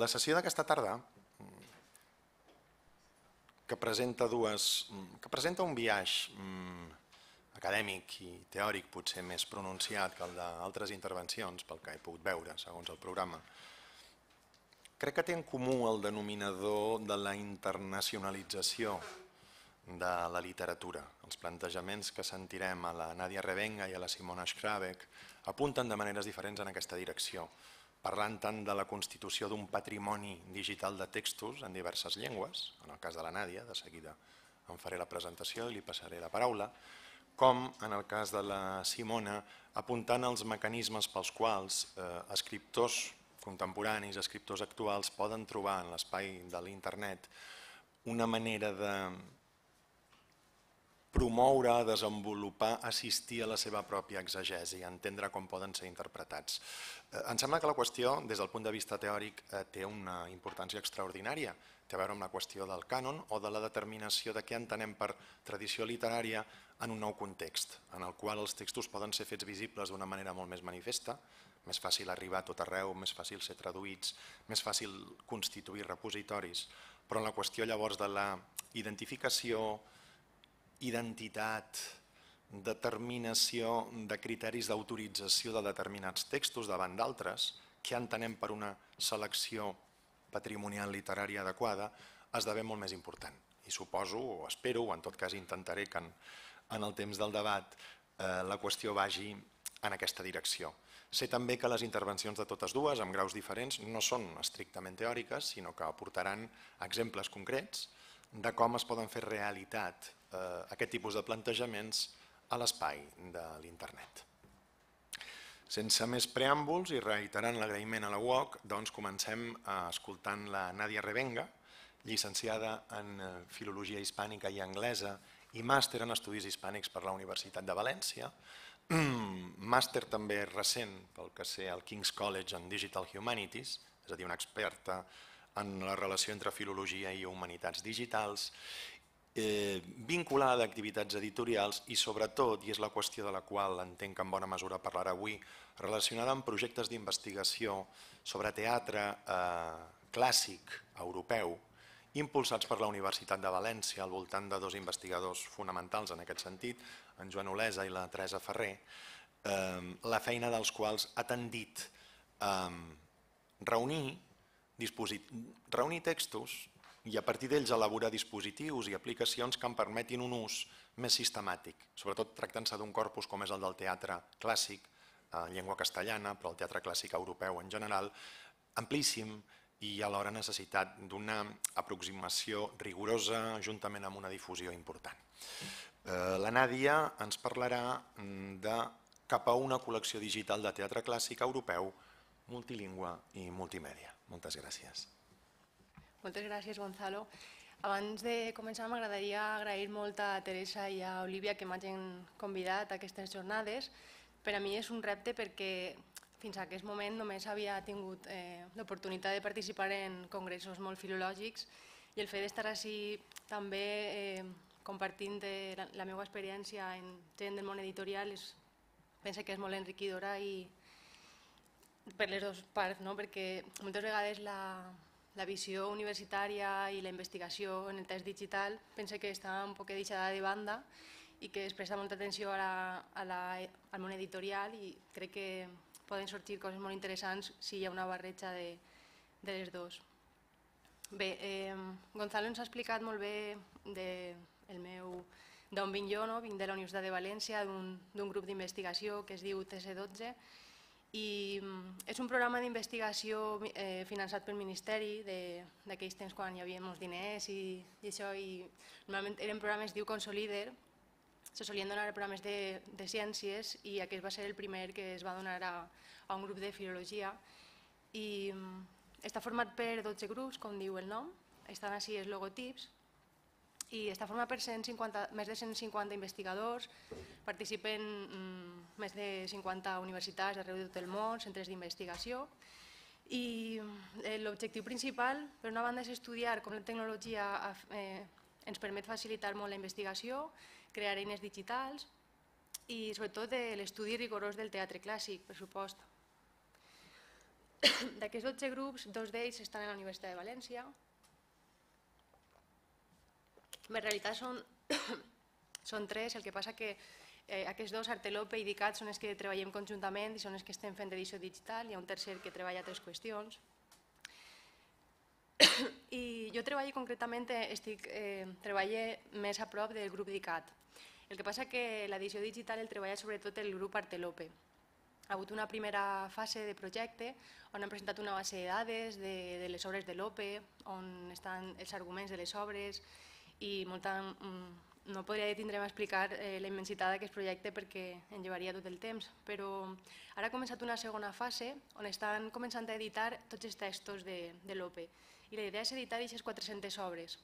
La sessió d'aquesta tarda, que presenta un biaix acadèmic i teòric potser més pronunciat que el d'altres intervencions, pel que he pogut veure segons el programa, crec que té en comú el denominador de la internacionalització de la literatura. Els plantejaments que sentirem a la Nadia Revenga i a la Simona Schrabeck apunten de maneres diferents en aquesta direcció, parlant tant de la constitució d'un patrimoni digital de textos en diverses llengües, en el cas de la Nadia, de seguida en faré la presentació i li passaré la paraula, com en el cas de la Simona, apuntant als mecanismes pels quals escriptors contemporanis, escriptors actuals poden trobar en l'espai de l'internet una manera de promoure, desenvolupar, assistir a la seva pròpia exegesi, entendre com poden ser interpretats. Em sembla que la qüestió, des del punt de vista teòric, té una importància extraordinària. Té a veure amb la qüestió del cànon o de la determinació de què entenem per tradició literària en un nou context, en el qual els textos poden ser fets visibles d'una manera molt més manifesta, més fàcil arribar a tot arreu, més fàcil ser traduïts, més fàcil constituir repositoris, però en la qüestió llavors de la identificació, identitat, determinació de criteris d'autorització de determinats textos davant d'altres, que entenem per una selecció patrimonial literària adequada, esdevé molt més important. I suposo, o espero, o en tot cas intentaré que en el temps del debat la qüestió vagi en aquesta direcció. Sé també que les intervencions de totes dues, amb graus diferents, no són estrictament teòriques, sinó que aportaran exemples concrets de com es poden fer realitat aquest tipus de plantejaments a l'espai de l'internet. Sense més preàmbuls i reiterant l'agraïment a la UOC, doncs comencem escoltant la Nadia Revenga, llicenciada en Filologia Hispànica i Anglesa i màster en Estudis Hispànics per la Universitat de València, màster també recent pel que sé al King's College en Digital Humanities, és a dir, una experta en la relació entre filologia i humanitats digitals, vinculada a activitats editorials i sobretot, i és la qüestió de la qual entenc que en bona mesura parlarà avui, relacionada amb projectes d'investigació sobre teatre clàssic europeu impulsats per la Universitat de València al voltant de dos investigadors fonamentals en aquest sentit, en Joan Olesa i la Teresa Ferrer, la feina dels quals ha tendit a reunir textos i a partir d'ells elaborar dispositius i aplicacions que en permetin un ús més sistemàtic, sobretot tractant-se d'un corpus com és el del teatre clàssic, en llengua castellana, però el teatre clàssic europeu en general, amplíssim i alhora necessitat d'una aproximació rigorosa juntament amb una difusió important. La Nàdia ens parlarà de cap a una col·lecció digital de teatre clàssic europeu, multilingüe i multimèdia. Moltes gràcies. Moltes gràcies, Gonzalo. Abans de començar m'agradaria agrair molt a Teresa i a Olivia que m'hagin convidat a aquestes jornades. Per a mi és un repte perquè fins a aquest moment només havia tingut l'oportunitat de participar en congressos molt filològics i el fet d'estar així també compartint la meva experiència en gent del món editorial penso que és molt enriquidora i per les dues parts, perquè moltes vegades la visió universitària i la investigació en el text digital penso que està un poc deixada de banda i que es presta molta atenció al món editorial i crec que poden sortir coses molt interessants si hi ha una barreja de les dues. Bé, Gonzalo ens ha explicat molt bé d'on vinc jo, vinc de la Universitat de València, d'un grup d'investigació que es diu TC12 i és un programa d'investigació finançat pel Ministeri d'aquells temps quan hi havia molts diners i això, i normalment eren programes, es diu Consolider, se solien donar programes de ciències i aquest va ser el primer que es va donar a un grup de filologia i està format per 12 grups, com diu el nom, estan així els logotips i està format per més de 150 investigadors, participen més de 50 universitats d'arreu de tot el món, centres d'investigació i l'objectiu principal, per una banda, és estudiar com la tecnologia ens permet facilitar molt la investigació, crear eines digitals i sobretot l'estudi rigorós del teatre clàssic, per supost. D'aquests 12 grups, 2 d'ells estan a la Universitat de València. En realitat són 3, el que passa que aquests 2, Artelope i DICAT, són els que treballem conjuntament i són els que estem fent edició digital. Hi ha un tercer que treballa altres qüestions. I jo concretament treballo més a prop del grup DICAT. El que passa que l'edició digital el treballa sobretot el grup Artelope. Ha hagut una primera fase de projecte on han presentat una base de dades de les obres de Lope, on estan els arguments de les obres i no podria detindre'm a explicar la immensitat d'aquest projecte perquè en llevaria tot el temps, però ara ha començat una segona fase on estan començant a editar tots els textos de Lope i la idea és editar aquestes 400 obres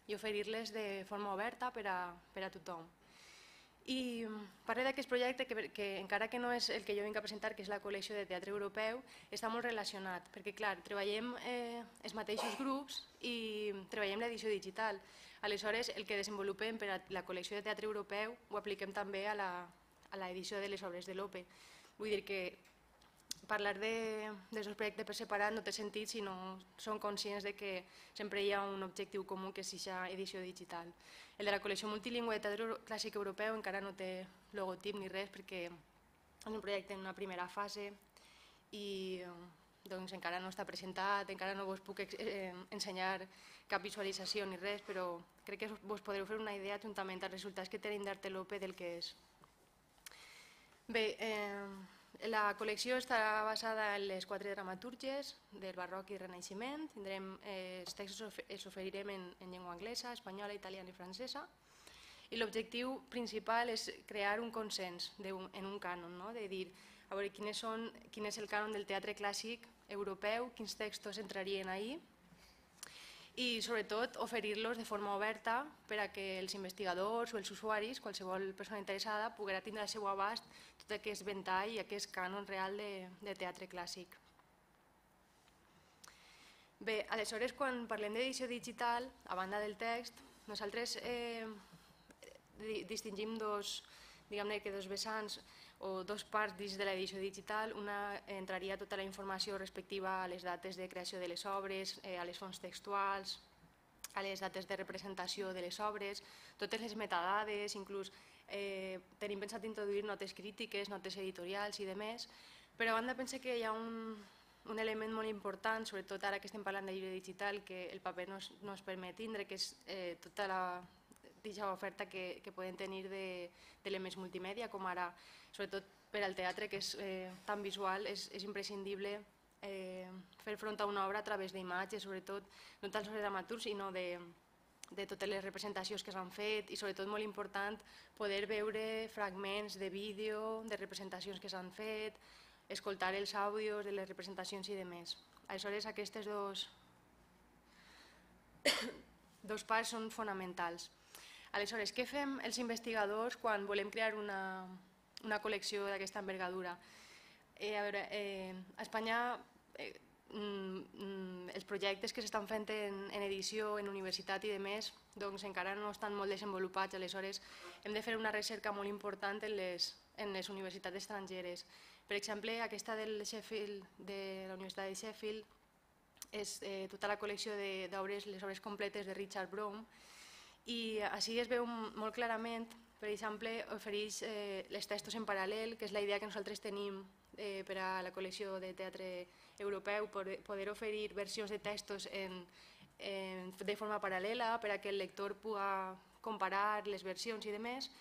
i oferir-les de forma oberta per a tothom. I parlo d'aquest projecte que encara que no és el que jo vinc a presentar, que és la col·lecció de teatre europeu, està molt relacionat, perquè clar, treballem els mateixos grups i treballem l'edició digital. Aleshores, el que desenvolupem per a la col·lecció de teatre europeu ho apliquem també a l'edició de les obres de Lope. Vull dir que parlar dels dos projectes per separat no té sentit si no som conscients que sempre hi ha un objectiu comú, que és aquesta edició digital. El de la col·lecció multilingüe de teatre clàssic europeu encara no té logotip ni res perquè és un projecte en una primera fase i encara no està presentat, encara no us puc ensenyar cap visualització ni res, però crec que us podreu fer una idea juntament als resultats que tenim d'Artelope del que és. Bé, la col·lecció està basada en les 4 dramatúrgies del barroc i renaixement. Els textos els oferirem en llengua anglesa, espanyola, italiana i francesa. I l'objectiu principal és crear un consens en un cànon, de dir a veure quin és el cànon del teatre clàssic europeu, quins textos entrarien ahí i sobretot oferir-los de forma oberta per a que els investigadors o els usuaris, qualsevol persona interessada, poguera tindre al seu abast tot aquest ventall i aquest cànon real de teatre clàssic. Bé, aleshores, quan parlem d'edició digital, a banda del text, nosaltres distingim dos vessants o dos parts dins de l'edició digital. Una entraria tota la informació respectiva a les dates de creació de les obres, a les fonts textuals, a les dates de representació de les obres, totes les metadades, inclús tenim pensat introduir notes crítiques, notes editorials i demés, però a banda penso que hi ha un element molt important, sobretot ara que estem parlant de llibre digital, que el paper no es permet tindre, que és tota l'oferta que podem tenir d'elements multimèdia, com ara, sobretot per al teatre, que és tan visual, és imprescindible fer front a una obra a través d'imatges, sobretot no tant sobre dramaturgs, sinó de totes les representacions que s'han fet i sobretot molt important poder veure fragments de vídeo, de representacions que s'han fet, escoltar els àudios de les representacions i demés. Aleshores, aquestes dos parts són fonamentals. Aleshores, què fem els investigadors quan volem crear una col·lecció d'aquesta envergadura? A Espanya els projectes que s'estan fent en edició, en universitat i demés, encara no estan molt desenvolupats, aleshores hem de fer una recerca molt important en les universitats estrangeres. Per exemple, aquesta de la Universitat de Sheffield és tota la col·lecció d'obres, les obres completes de Richard Brome, i així es veu molt clarament, per exemple, ofereix els textos en paral·lel, que és la idea que nosaltres tenim per a la col·lecció de teatre europeu, poder oferir versions de textos de forma paral·lela per a que el lector pugui comparar les versions i demés.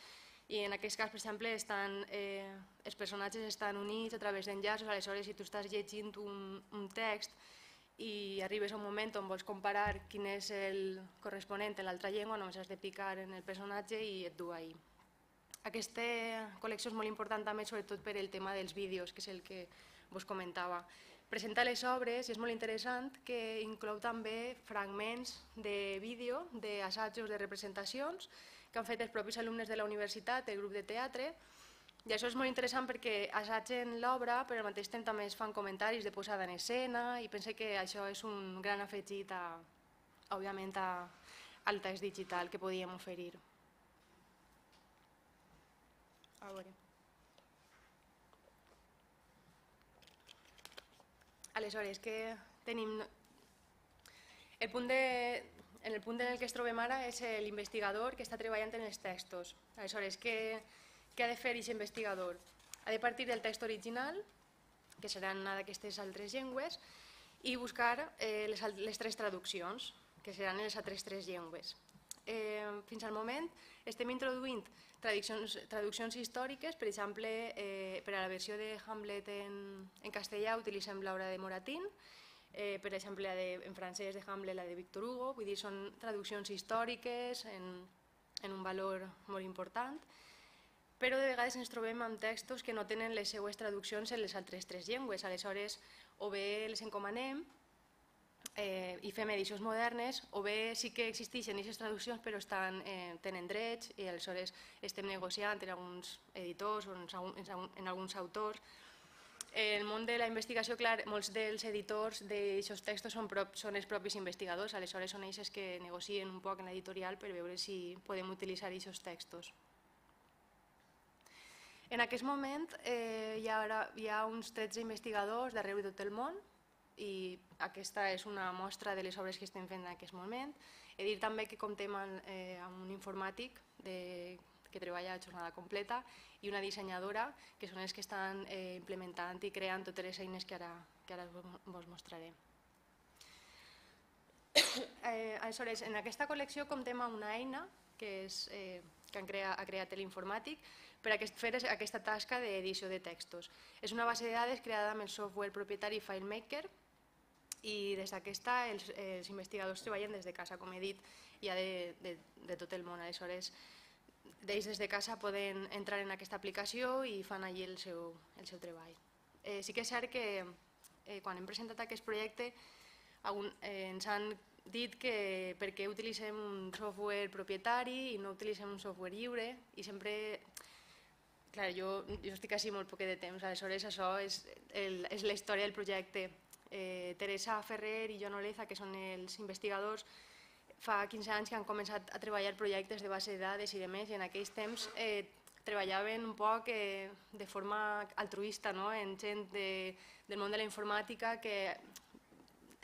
I en aquest cas, per exemple, els personatges estan units a través d'enllaços, aleshores si tu estàs llegint un text i arribes a un moment on vols comparar quin és el corresponent en l'altra llengua, només has de picar en el personatge i et du ahí. Aquesta col·lecció és molt important també, sobretot per el tema dels vídeos, que és el que vos comentava. Presenta les obres i és molt interessant que inclou també fragments de vídeo d'assajos de representacions que han fet els propis alumnes de la universitat, el grup de teatre, i això és molt interessant perquè assagen l'obra, però al mateix temps també es fan comentaris de posada en escena i penso que això és un gran afegit, òbviament, al text digital que podíem oferir. Aleshores, que tenim... En el punt en el que es trobem ara és l'investigador que està treballant en els textos. Aleshores, què ha de fer aquest investigador? Ha de partir del text original, que seran una d'aquestes altres llengües, i buscar les tres traduccions, que seran les altres tres llengües. Fins al moment estem introduint traduccions històriques, per exemple, per a la versió de Hamlet en castellà utilitzem l'obra de Moratín, per exemple, en francès de Hamlet la de Victor Hugo, vull dir, són traduccions històriques en un valor molt important, però de vegades ens trobem amb textos que no tenen les seues traduccions en les altres tres llengües, aleshores o bé les encomanem i fem edicions modernes, o bé sí que existeixen aquestes traduccions però tenen drets i aleshores estem negociant en alguns editors o en alguns autors. En el món de la investigació, clar, molts dels editors d'aquests textos són els propis investigadors, aleshores són ells que negocien un poc en l'editorial per veure si podem utilitzar aquests textos. En aquest moment hi ha uns 13 investigadors d'arreu de tot el món i aquesta és una mostra de les obres que estem fent en aquest moment. He dit també que comptem amb un informàtic que treballa a jornada completa i una dissenyadora, que són els que estan implementant i creant totes les eines que ara vos mostraré. Aleshores, en aquesta col·lecció comptem amb una eina que ha creat l'informàtic per a fer aquesta tasca d'edició de textos. És una base de dades creada amb el software propietari FileMaker i des d'aquesta els investigadors treballen des de casa, com he dit, ja de tot el món. Aleshores, ells des de casa poden entrar en aquesta aplicació i fan allí el seu treball. Sí que és cert que quan hem presentat aquest projecte ens han dit que per què utilitzem un software propietari i no utilitzem un software lliure i sempre... Clar, jo estic així molt poquet de temps, aleshores això és la història del projecte. Teresa Ferrer i Joan Oleza, que són els investigadors, fa 15 anys que han començat a treballar projectes de base de dades i de més, i en aquells temps treballaven un poc de forma altruista, en gent del món de la informàtica que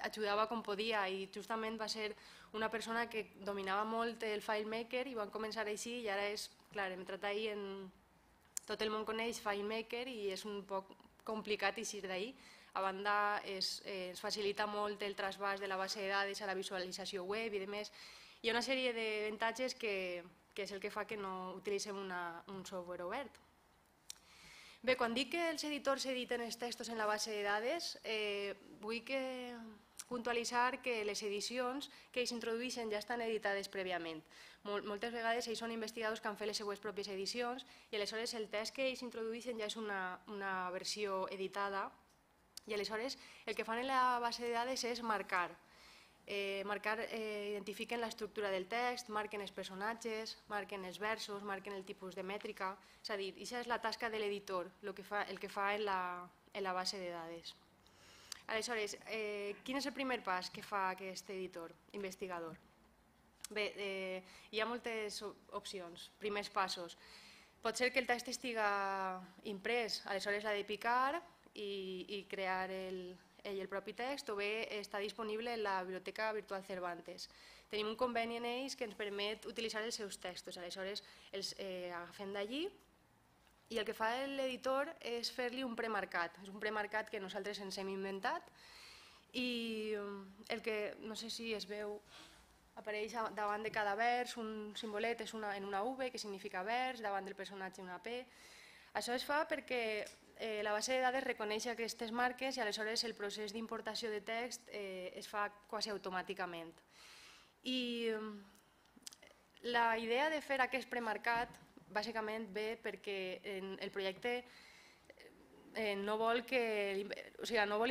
ajudava com podia, i justament va ser una persona que dominava molt el FileMaker i van començar així, i ara és, clar, hem entrat ahir en... Tot el món coneix FileMaker i és un poc complicat eixir d'ahir. A banda, es facilita molt el trasbàs de la base de dades a la visualització web i demés. Hi ha una sèrie d'avantatges que és el que fa que no utilitzem un software obert. Bé, quan dic que els editors editen els textos en la base de dades, vull puntualitzar que les edicions que ells introdueixen ja estan editades prèviament. Moltes vegades ells són investigadors que han fet les seues pròpies edicions i aleshores el text que ells introdueixen ja és una versió editada i aleshores el que fan en la base de dades és marcar. Identifiquen l'estructura del text, marquen els personatges, marquen els versos, marquen el tipus de mètrica. És a dir, aquesta és la tasca de l'editor, el que fa en la base de dades. Aleshores, quin és el primer pas que fa aquest editor, investigador? Bé, hi ha moltes opcions. Primers passos. Pot ser que el text estiga imprès, aleshores l'ha de picar i crear el propi text, o bé està disponible en la Biblioteca Virtual Cervantes. Tenim un conveni en ells que ens permet utilitzar els seus textos, aleshores els agafem d'allí i el que fa l'editor és fer-li un premarcat. És un premarcat que nosaltres ens hem inventat i el que, no sé si es veu, apareix davant de cada vers un simbolet, és en una V, que significa vers, davant del personatge una P. Això es fa perquè la base de dades reconeix aquestes marques i aleshores el procés d'importació de text es fa quasi automàticament. I la idea de fer aquest premarcat bàsicament ve perquè el projecte no vol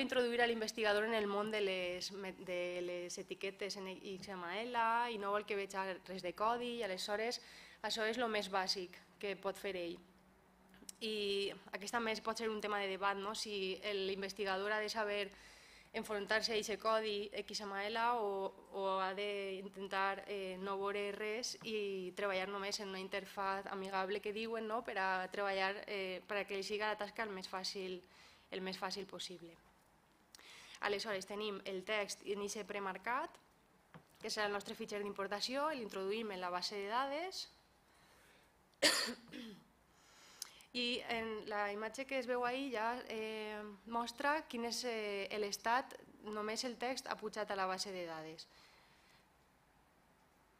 introduir a l'investigador en el món de les etiquetes en XML i no vol que vegi res de codi i aleshores això és el més bàsic que pot fer ell. I aquest també pot ser un tema de debat, si l'investigador ha de saber enfrontar-se a aquest codi XML o ha d'intentar no veure res i treballar només en una interfaz amigable que diuen per a treballar per a que li sigui la tasca el més fàcil possible. Aleshores tenim el text en aquest premarcat, que serà el nostre fitxer d'importació, l'introduïm en la base de dades i en la imatge que es veu ahir ja mostra quin és l'estat, només el text ha pujat a la base de dades.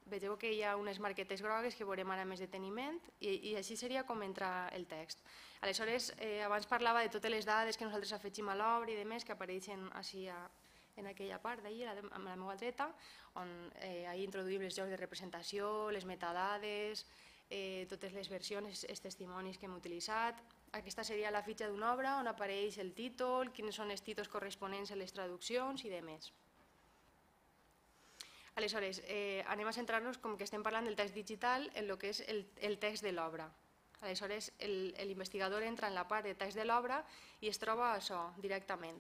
Vegeu que hi ha unes marquetes grogues que veurem ara més deteniment i així seria com entra el text. Aleshores, abans parlava de totes les dades que nosaltres afegim a l'obra i demés que apareixen així en aquella part d'ahir, amb la meva dreta, on ahir introduïm els jocs de representació, les metadades, totes les versions, els testimonis que hem utilitzat. Aquesta seria la fitxa d'una obra on apareix el títol, quins són els títols corresponents a les traduccions i demés. Aleshores, anem a centrar-nos, com que estem parlant del text digital, en el que és el text de l'obra. Aleshores, l'investigador entra en la part de text de l'obra i es troba això directament.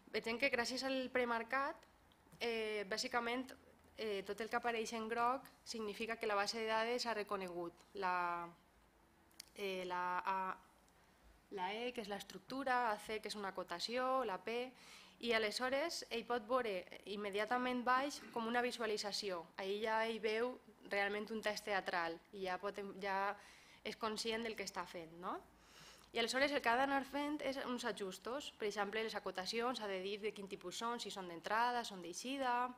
Veiem que gràcies al premarcat, bàsicament, tot el que apareix en groc significa que la base de dades ha reconegut la E, que és l'estructura, la C, que és una acotació, la P, i aleshores ell pot veure immediatament baix com una visualització. Ahir ja ell veu realment un text teatral i ja és conscient del que està fent. I aleshores el que ha d'anar fent és uns ajustos. Per exemple, les acotacions ha de dir de quin tipus són, si són d'entrada, són d'eixida.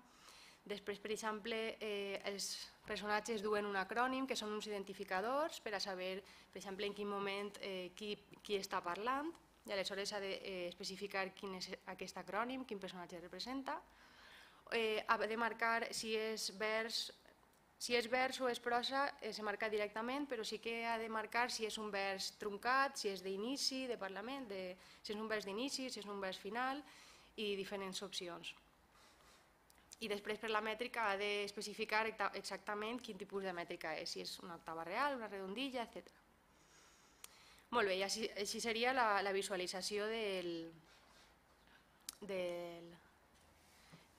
Després, per exemple, els personatges duen un acrònim, que són uns identificadors, per a saber, per exemple, en quin moment qui està parlant, i aleshores ha d'especificar quin és aquest acrònim, quin personatge representa. Ha de marcar si és vers o és prosa, se marca directament, però sí que ha de marcar si és un vers truncat, si és d'inici, de parlament, si és un vers d'inici, si és un vers final, i diferents opcions. I després per la mètrica ha d'especificar exactament quin tipus de mètrica és, si és una octava real, una redondilla, etc. Molt bé, i així seria la visualització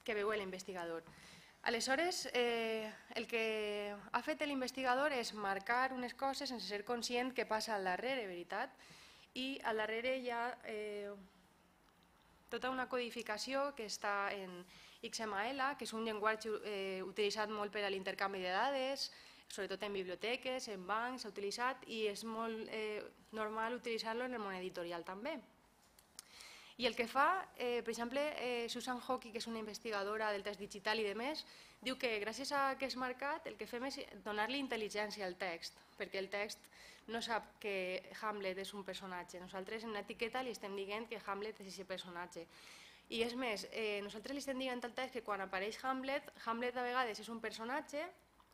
que veu l'investigador. Aleshores, el que ha fet l'investigador és marcar unes coses sense ser conscient que passa al darrere, veritat? I al darrere hi ha tota una codificació que està en XML, que és un llenguatge utilitzat molt per a l'intercanvi de dades, sobretot en biblioteques, en bancs, s'ha utilitzat i és molt normal utilitzar-lo en el món editorial també. I el que fa, per exemple, Susan Hockey, que és una investigadora del text digital i demés, diu que gràcies a aquest marcat el que fem és donar-li intel·ligència al text, perquè el text no sap que Hamlet és un personatge. Nosaltres en una etiqueta li estem dient que Hamlet és aquest personatge. I és més, nosaltres li estem dient al text que quan apareix Hamlet, Hamlet de vegades és un personatge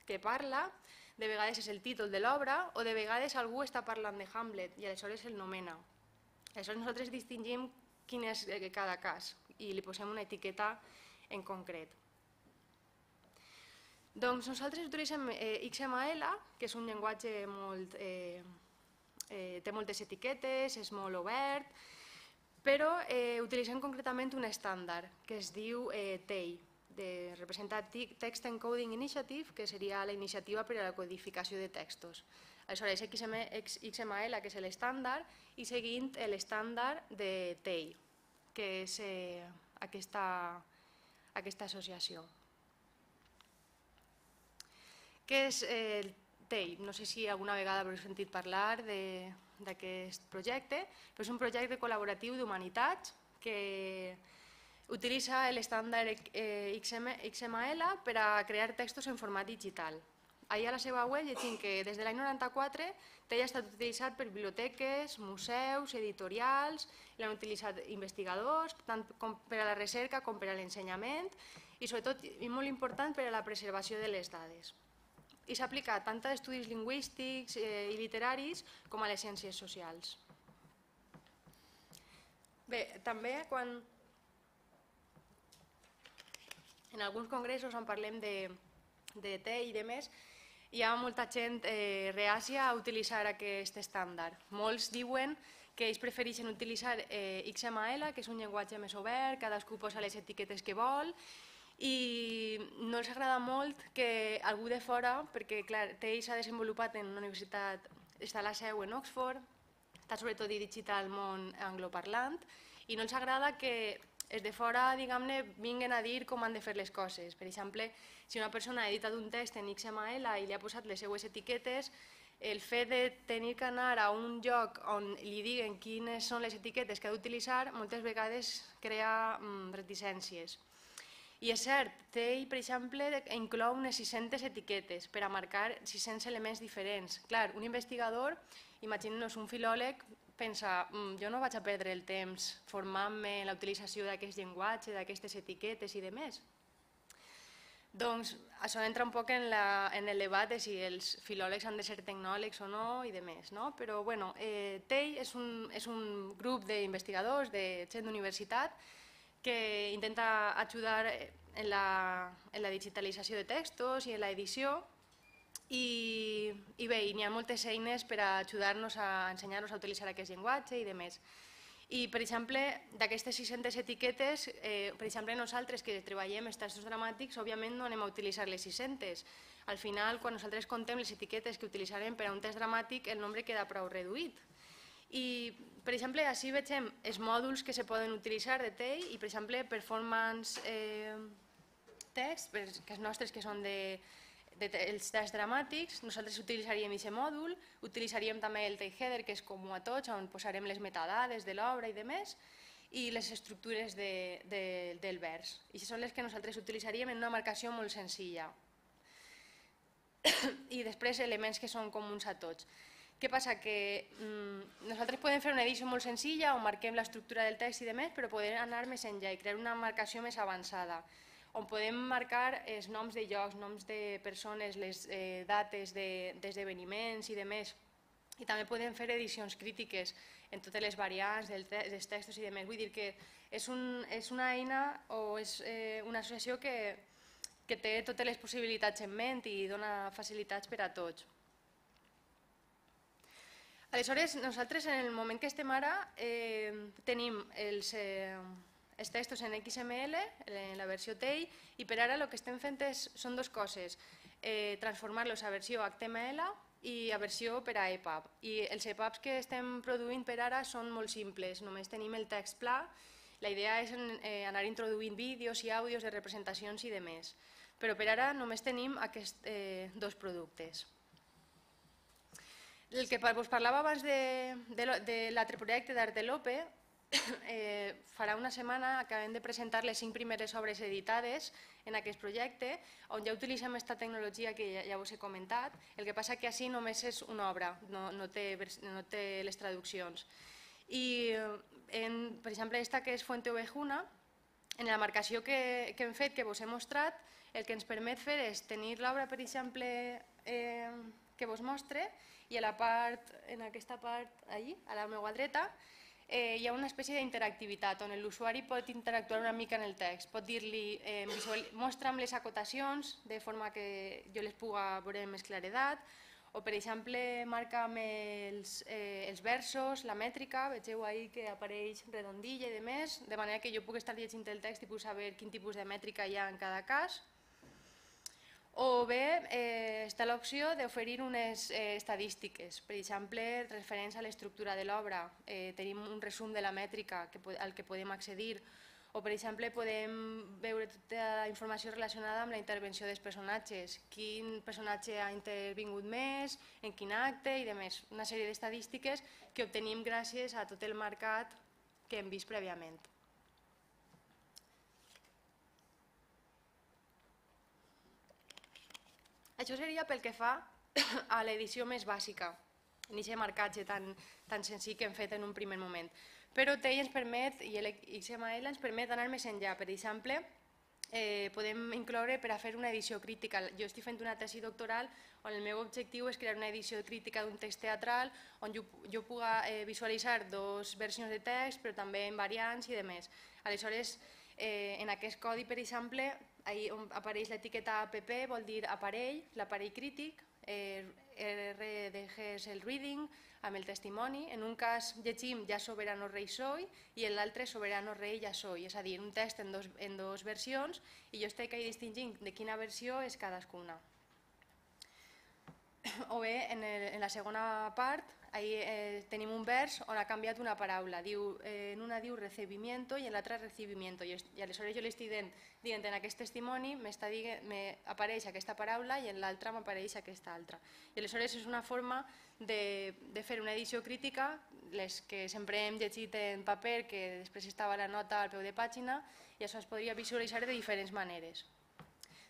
que parla, de vegades és el títol de l'obra o de vegades algú està parlant de Hamlet i aleshores el nomena. Aleshores nosaltres distingim quin és cada cas i li posem una etiqueta en concret. Doncs nosaltres utilitzem XML, que és un llenguatge molt... té moltes etiquetes, és molt obert, però utilitzem concretament un estàndard que es diu TEI, de Representative Text Encoding Initiative, que seria la iniciativa per a la codificació de textos. Aleshores, XML, que és l'estàndard, i seguint l'estàndard de TEI, que és aquesta associació. Què és el TEI? No sé si alguna vegada haureu sentit parlar d'aquest projecte, però és un projecte col·laboratiu d'humanitats que utilitza l'estàndard XML per a crear textos en format digital. Allà a la seva web llegim que des de l'any 94 TEI ha estat utilitzat per biblioteques, museus, editorials, l'han utilitzat investigadors, tant per a la recerca com per a l'ensenyament i sobretot, i molt important, per a la preservació de les dades. I s'ha aplicat tant a estudis lingüístics i literaris com a les ciències socials. Bé, també quan en alguns congressos on parlem de TEI i de més, hi ha molta gent reàcia a utilitzar aquest estàndard. Molts diuen que ells prefereixen utilitzar XML, que és un llenguatge més obert, cadascú posa les etiquetes que vol, i no els agrada molt que algú de fora, perquè TEI s'ha desenvolupat en una universitat, està a la seu en Oxford, està sobretot dirigit al món angloparlant, i no els agrada que els de fora, diguem-ne, vinguen a dir com han de fer les coses. Per exemple, si una persona ha editat un text en XML i li ha posat les seues etiquetes, el fet de tenir que anar a un lloc on li diguen quines són les etiquetes que ha d'utilitzar moltes vegades crea reticències. I és cert, Tell, per exemple, inclou unes 600 etiquetes per a marcar 600 elements diferents. Clar, un investigador, imaginem-nos un filòleg, pensa, jo no vaig a perdre el temps formant-me en la utilització d'aquest llenguatge, d'aquestes etiquetes i demés. Doncs això entra un poc en el debat de si els filòlegs han de ser tecnòlegs o no i demés, no? Però bueno, Tell és un grup d'investigadors de gent d'universitat que intenta ajudar en la digitalització de textos i en l'edició i bé, n'hi ha moltes eines per a ajudar-nos a ensenyar-nos a utilitzar aquest llenguatge i demés. I, per exemple, d'aquestes 600 etiquetes, per exemple, nosaltres que treballem els textos dramàtics, òbviament no anem a utilitzar les 600. Al final, quan nosaltres contem les etiquetes que utilitzarem per a un text dramàtic, el nombre queda prou reduït. I, per exemple, així veiem els mòduls que se poden utilitzar de Tell i, per exemple, performance text, que els nostres que són els tests dramàtics, nosaltres utilitzaríem aquest mòdul, utilitzaríem també el Tell header, que és comú a tots, on posarem les metadades de l'obra i demés, i les estructures del vers. I són les que nosaltres utilitzaríem en una marcació molt senzilla. I després elements que són comuns a tots. Què passa? Que nosaltres podem fer una edició molt senzilla on marquem l'estructura del text i demés, però podem anar més enllà i crear una marcació més avançada, on podem marcar els noms de llocs, noms de persones, les dates d'esdeveniments i demés. I també podem fer edicions crítiques en totes les variants dels textos i demés. Vull dir que és una eina o és una associació que té totes les possibilitats en ment i dona facilitats per a tots. Aleshores, nosaltres en el moment que estem ara tenim els textos en XML, en la versió Tell, i per ara el que estem fent són dues coses, transformar-los a versió HTML i a versió per a EPUB. I els EPUBs que estem produint per ara són molt simples, només tenim el text pla, la idea és anar introduint vídeos i àudios de representacions i demés, però per ara només tenim aquests dos productes. El que us parlava abans de l'altre projecte d'Artelope, farà una setmana acabem de presentar les 5 primeres obres editades en aquest projecte, on ja utilitzem aquesta tecnologia que ja us he comentat. El que passa que així només és una obra, no té les traduccions. I, per exemple, aquesta que és Fuente Ovejuna, en la marcació que hem fet, que us he mostrat, el que ens permet fer és tenir l'obra, per exemple, que vos mostre, i en aquesta part, allí, a la meva dreta, hi ha una espècie d'interactivitat on l'usuari pot interactuar una mica en el text. Pot dir-li, mostra'm les acotacions de forma que jo les puga veure amb més claredat, o per exemple marca'm els versos, la mètrica, vegeu ahir que apareix redondilla i demés, de manera que jo puc estar llegint el text i puc saber quin tipus de mètrica hi ha en cada cas. O bé està l'opció d'oferir unes estadístiques, per exemple, referents a l'estructura de l'obra. Tenim un resum de la mètrica al que podem accedir, o per exemple podem veure tota la informació relacionada amb la intervenció dels personatges, quin personatge ha intervingut més, en quin acte i demés. Una sèrie d'estadístiques que obtenim gràcies a tot el marcat que hem vist prèviament. Això seria pel que fa a l'edició més bàsica, en aquest marcatge tan senzill que hem fet en un primer moment. Però Tell ens permet, i l'XML ens permet anar més enllà. Per exemple, podem incloure per a fer una edició crítica. Jo estic fent una tesi doctoral on el meu objectiu és crear una edició crítica d'un text teatral on jo puga visualitzar dues versions de text, però també en variants i demés. Aleshores, en aquest codi, per exemple, on apareix l'etiqueta app, vol dir aparell, l'aparell crític, RDG és el reading, amb el testimoni. En un cas llegim ja soberano rei soy i en l'altre soberano rei ja soy, és a dir, un text en dues versions i jo estic distingint de quina versió és cadascuna. O bé, en la segona part, tenim un vers on ha canviat una paraula. En una diu recibimiento i en l'altra recibimiento. I aleshores jo li estic dient en aquest testimoni m'apareix aquesta paraula i en l'altra m'apareix aquesta altra. I aleshores és una forma de fer una edició crítica, les que sempre hem llegit en paper, que després estava la nota al peu de pàgina, i això es podria visualitzar de diferents maneres.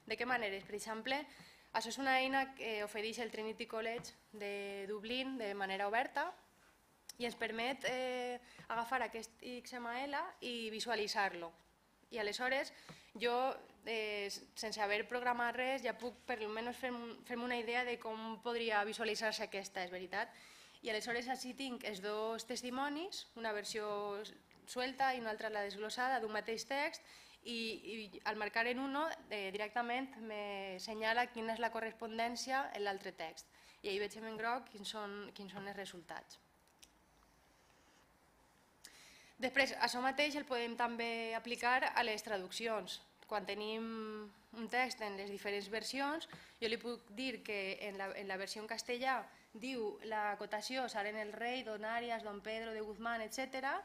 De què maneres? Per exemple, això és una eina que ofereix el Trinity College de Dublín de manera oberta i ens permet agafar aquest XML i visualitzar-lo. I aleshores jo, sense haver programat res, ja puc per almenys fer-me una idea de com podria visualitzar-se aquesta, és veritat? I aleshores així tinc els dos testimonis, una versió suelta i una altra la desglossada d'un mateix text, i al marcar en uno directament m'assenyala quina és la correspondència en l'altre text. I ahir veig en groc quins són els resultats. Després, això mateix el podem també aplicar a les traduccions. Quan tenim un text en les diferents versions, jo li puc dir que en la versió en castellà diu la acotació Saren el Rei, Don Arias, Don Pedro de Guzmán, etc.,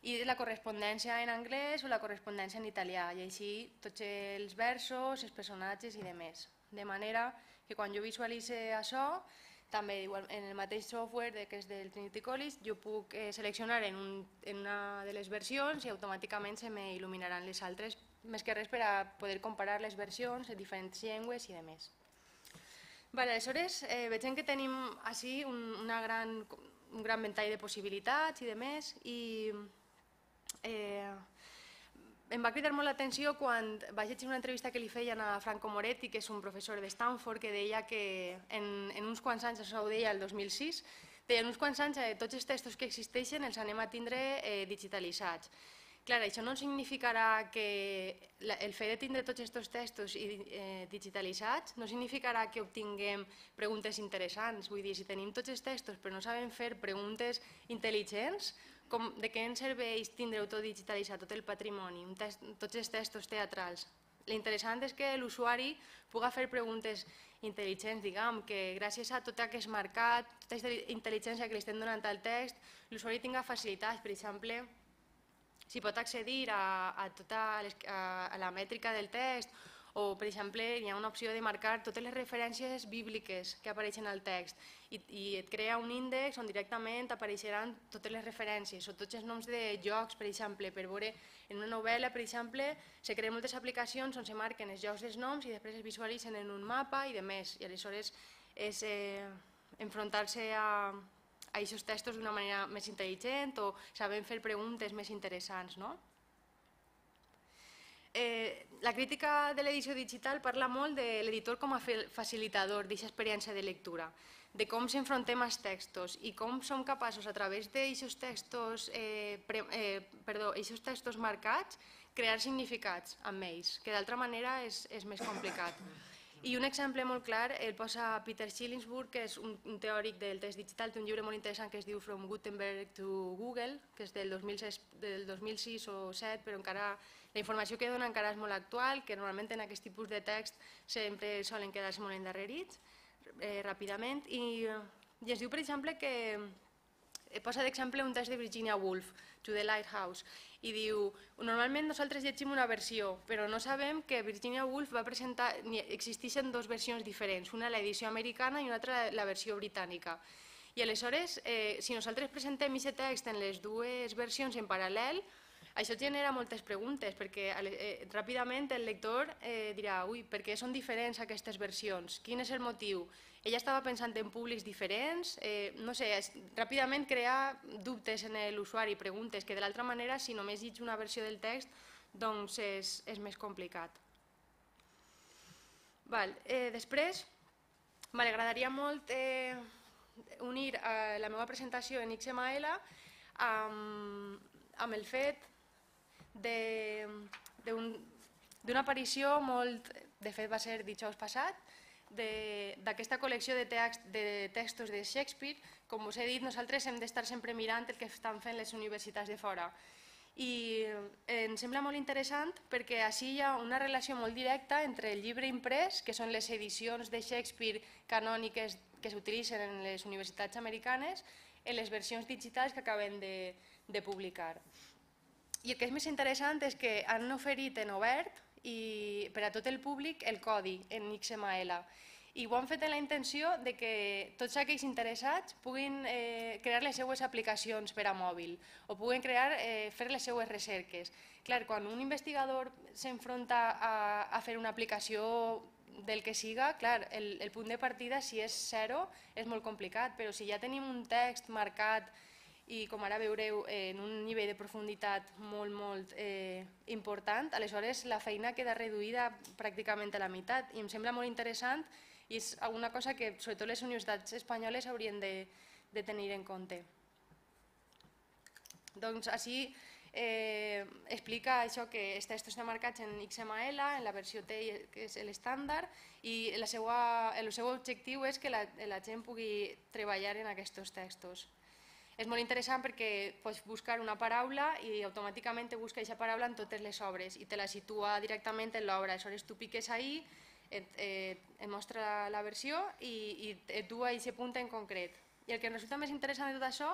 i la correspondència en anglès o la correspondència en italià, i així tots els versos, els personatges i demés. De manera que quan jo visualitze això, també en el mateix software que és del Trinity College, jo puc seleccionar en una de les versions i automàticament se m'il·luminaran les altres, més que res per a poder comparar les versions en diferents llengües i demés. Aleshores, veiem que tenim així un gran ventall de possibilitats i demés, i em va cridar molt l'atenció quan vaig llegir una entrevista que li feien a Franco Moretti, que és un professor de Stanford, que deia que en uns quants anys, això ho deia el 2006, deia en uns quants anys tots els textos que existeixen els anem a tindre digitalitzats. Clar, això no significarà que el fet de tindre tots aquests textos digitalitzats no significarà que obtinguem preguntes interessants. Vull dir, si tenim tots els textos però no sabem fer preguntes intel·ligents, de què ens serveix tindre-ho tot digitalitzat, tot el patrimoni, tots els textos teatrals? L'interessant és que l'usuari pugui fer preguntes intel·ligents, diguem, que gràcies a tot aquest marcat, tota aquesta intel·ligència que li estem donant al text, l'usuari tingui facilitats. Per exemple, si pot accedir a tota la mètrica del text, o, per exemple, hi ha una opció de marcar totes les referències bíbliques que apareixen al text i et crea un índex on directament apareixeran totes les referències o tots els noms de llocs, per exemple, per veure en una novel·la, per exemple, se creen moltes aplicacions on se marquen els llocs dels noms i després es visualitzen en un mapa i demés. I aleshores és enfrontar-se a aquests textos d'una manera més intel·ligent o sabem fer preguntes més interessants, no? La crítica de l'edició digital parla molt de l'editor com a facilitador d'aquesta experiència de lectura, de com s'enfrontem als textos i com som capaços a través d'aquests textos marcats crear significats amb ells, que d'altra manera és més complicat. I un exemple molt clar el posa Peter Schillingsburg, que és un teòric del text digital, té un llibre molt interessant que es diu From Gutenberg to Google, que és del 2006 o 2007, però encara la informació que dona encara és molt actual, que normalment en aquest tipus de text sempre solen quedar-se molt endarrerits ràpidament, i es diu, per exemple, que posa d'exemple un text de Virginia Woolf, To the Lighthouse, i diu, normalment nosaltres llegim una versió, però no sabem que Virginia Woolf va presentar, existeixen dues versions diferents, una l'edició americana i una altra la versió britànica. I aleshores, si nosaltres presentem aquest text en les dues versions en paral·lel, això genera moltes preguntes, perquè ràpidament el lector dirà, ui, per què són diferents aquestes versions? Quin és el motiu? Ella estava pensant en públics diferents? No sé, ràpidament crea dubtes en l'usuari, preguntes, que de l'altra manera, si només llegeix una versió del text, doncs és més complicat. Després, m'agradaria molt unir la meva presentació en XML amb el fet d'una aparició de fet va ser dijous passat, d'aquesta col·lecció de textos de Shakespeare. Com us he dit, nosaltres hem d'estar sempre mirant el que estan fent les universitats de fora. I em sembla molt interessant perquè així hi ha una relació molt directa entre el llibre imprès, que són les edicions de Shakespeare canòniques que s'utilitzen en les universitats americanes, en les versions digitals que acaben de publicar. I el que és més interessant és que han oferit en obert i per a tot el públic el codi en XML. I ho han fet amb la intenció de que tots aquells interessats puguin crear les seues aplicacions per a mòbil o puguin fer les seues recerques. Clar, quan un investigador s'enfronta a fer una aplicació del que siga, clar, el punt de partida, si és zero, és molt complicat, però si ja tenim un text marcat i, com ara veureu, en un nivell de profunditat molt important, aleshores la feina queda reduïda pràcticament a la meitat i em sembla molt interessant i és una cosa que sobretot les universitats espanyoles haurien de tenir en compte. Doncs així explica això que els textos estan marcats en XML, en la versió T, que és l'estàndard, i el seu objectiu és que la gent pugui treballar en aquests textos. És molt interessant perquè pots buscar una paraula i automàticament te busca aquesta paraula en totes les obres i te la situa directament en l'obra. Aleshores tu piques ahí, et mostra la versió i et du a aquest punt en concret. I el que em resulta més interessant de tot això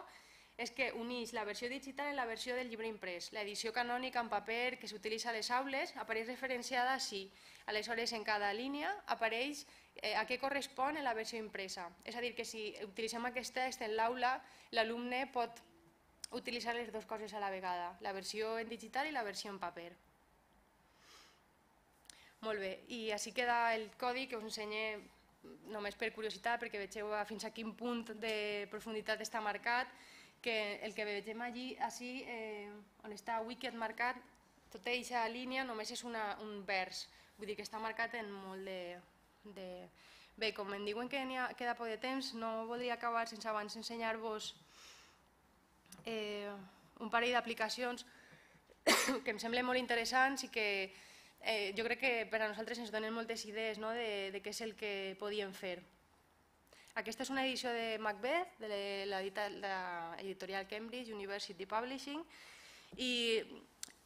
és que uneix la versió digital en la versió del llibre imprès. L'edició canònica en paper que s'utilitza a les aules apareix referenciada així. Aleshores, en cada línia apareix a què correspon en la versió impresa. És a dir, que si utilitzem aquest text en l'aula, l'alumne pot utilitzar les dues coses a la vegada, la versió en digital i la versió en paper. Molt bé, i així queda el codi que us ensenyo només per curiositat, perquè vegeu fins a quin punt de profunditat està marcat, que el que vegem allí, així, on està Wicked marcat, tota aquesta línia només és un vers, vull dir que està marcat en molt de... Bé, com em diuen que queda poc de temps, no voldria acabar sense abans ensenyar-vos un parell d'aplicacions que em semblen molt interessants i que jo crec que per a nosaltres ens donen moltes idees de què és el que podíem fer. Aquesta és una edició de Macbeth, de l'editorial Cambridge University Publishing, i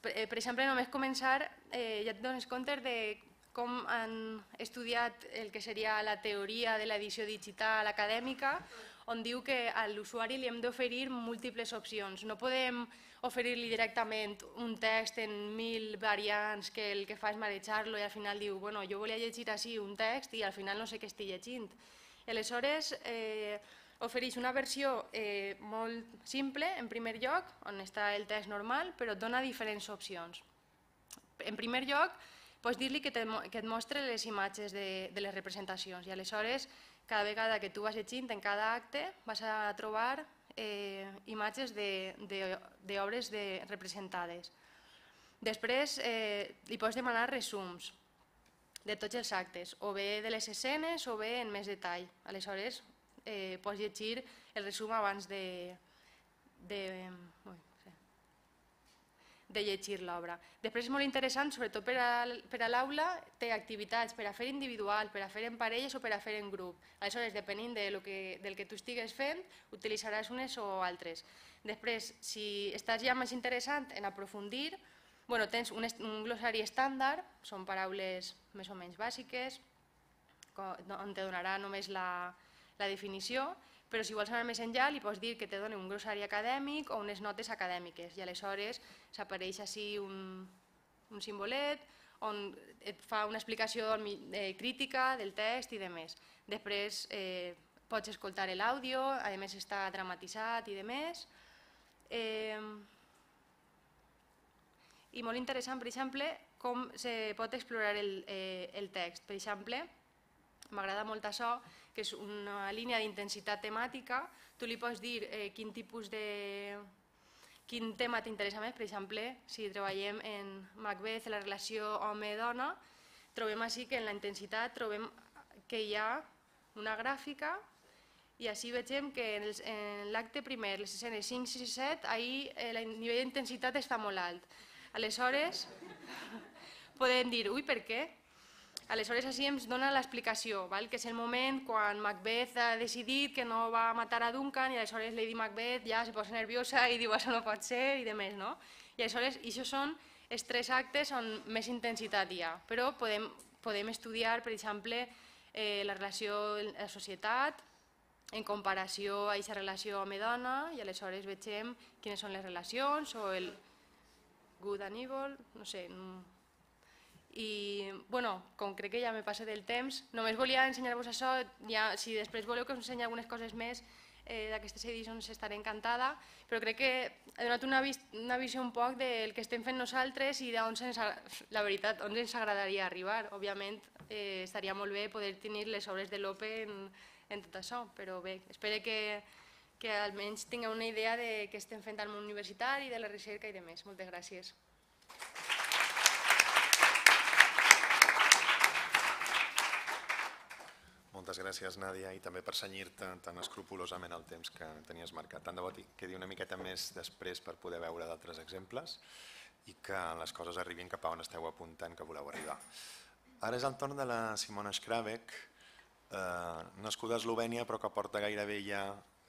per exemple només començar ja et dones compte de com han estudiat el que seria la teoria de l'edició digital acadèmica, on diu que a l'usuari li hem d'oferir múltiples opcions. No podem oferir-li directament un text en 1000 variants que el que fa és marejar-lo i al final diu, bueno, jo volia llegir així un text i al final no sé què estic llegint. Aleshores, ofereix una versió molt simple, en primer lloc, on està el text normal, però et dona diferents opcions. En primer lloc, pots dir-li que et mostre les imatges de les representacions i aleshores, cada vegada que tu vas llegint en cada acte, vas a trobar imatges d'obres representades. Després, li pots demanar resums de tots els actes, o bé de les escenes o bé en més detall. Aleshores, pots llegir el resum abans de llegir l'obra. Després és molt interessant, sobretot per a l'aula, té activitats per a fer individual, per a fer en parelles o per a fer en grup. Aleshores, depenent del que tu estigues fent, utilitzaràs unes o altres. Després, si estàs ja més interessant en aprofundir, tens un glossari estàndard, són paraules més o menys bàsiques, on te donarà només la definició, però si vols anar més enllà li pots dir que te doni un glossari acadèmic o unes notes acadèmiques i aleshores s'apareix així un simbolet on et fa una explicació crítica del text i demés. Després pots escoltar l'àudio, a més està dramatitzat i demés. I molt interessant, per exemple, com se pot explorar el text. Per exemple, m'agrada molt això, que és una línia d'intensitat temàtica. Tu li pots dir quin tema t'interessa més. Per exemple, si treballem en Macbeth, la relació home-dona, trobem així que en la intensitat trobem que hi ha una gràfica i així vegem que en l'acte primer, les escenes 5, 6 i 7, ahir el nivell d'intensitat està molt alt. Aleshores, podem dir, ui, per què? Aleshores, així ens dona l'explicació, que és el moment quan Macbeth ha decidit que no va matar a Duncan i aleshores Lady Macbeth ja se posa nerviosa i diu això no pot ser i demés, no? I aleshores, això són els 3 actes on més intensitat hi ha, però podem estudiar, per exemple, la relació en la societat, en comparació a aquesta relació home-dona, i aleshores vegem quines són les relacions o el good and evil, no sé. I, com crec que ja me passa del temps, només volia ensenyar-vos això, si després voleu que us ensenyi algunes coses més d'aquestes edicions estaré encantada, però crec que he donat una visió un poc del que estem fent nosaltres i d'on la veritat, on ens agradaria arribar. Òbviament estaria molt bé poder tenir les obres de Lope en tot això, però bé, espero que almenys tingueu una idea de què estem fent al món universitari, de la recerca i de més. Moltes gràcies. Moltes gràcies, Nàdia, i també per cenyir-te tan escrupolosament el temps que tenies marcat. Tant de bo quedi una miqueta més després per poder veure d'altres exemples i que les coses arribin cap a on esteu apuntant que voleu arribar. Ara és el torn de la Simona Škrabek, nascuda a Eslovènia però que porta gairebé ja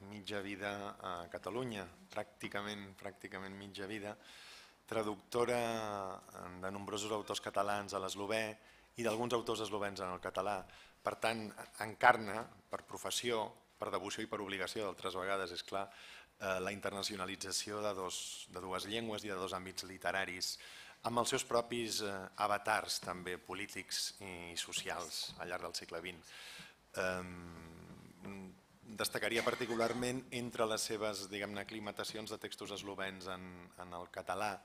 mitja vida a Catalunya, pràcticament mitja vida, traductora de nombrosos autors catalans a l'eslovè i d'alguns autors eslovens en el català. Per tant, encarna per professió, per devoció i per obligació, d'altres vegades, és clar, la internacionalització de dues llengües i de dos àmbits literaris, amb els seus propis avatars també polítics i socials al llarg del segle XX. Destacaria particularment entre les seves, diguem-ne, aclimatacions de textos eslovens en el català,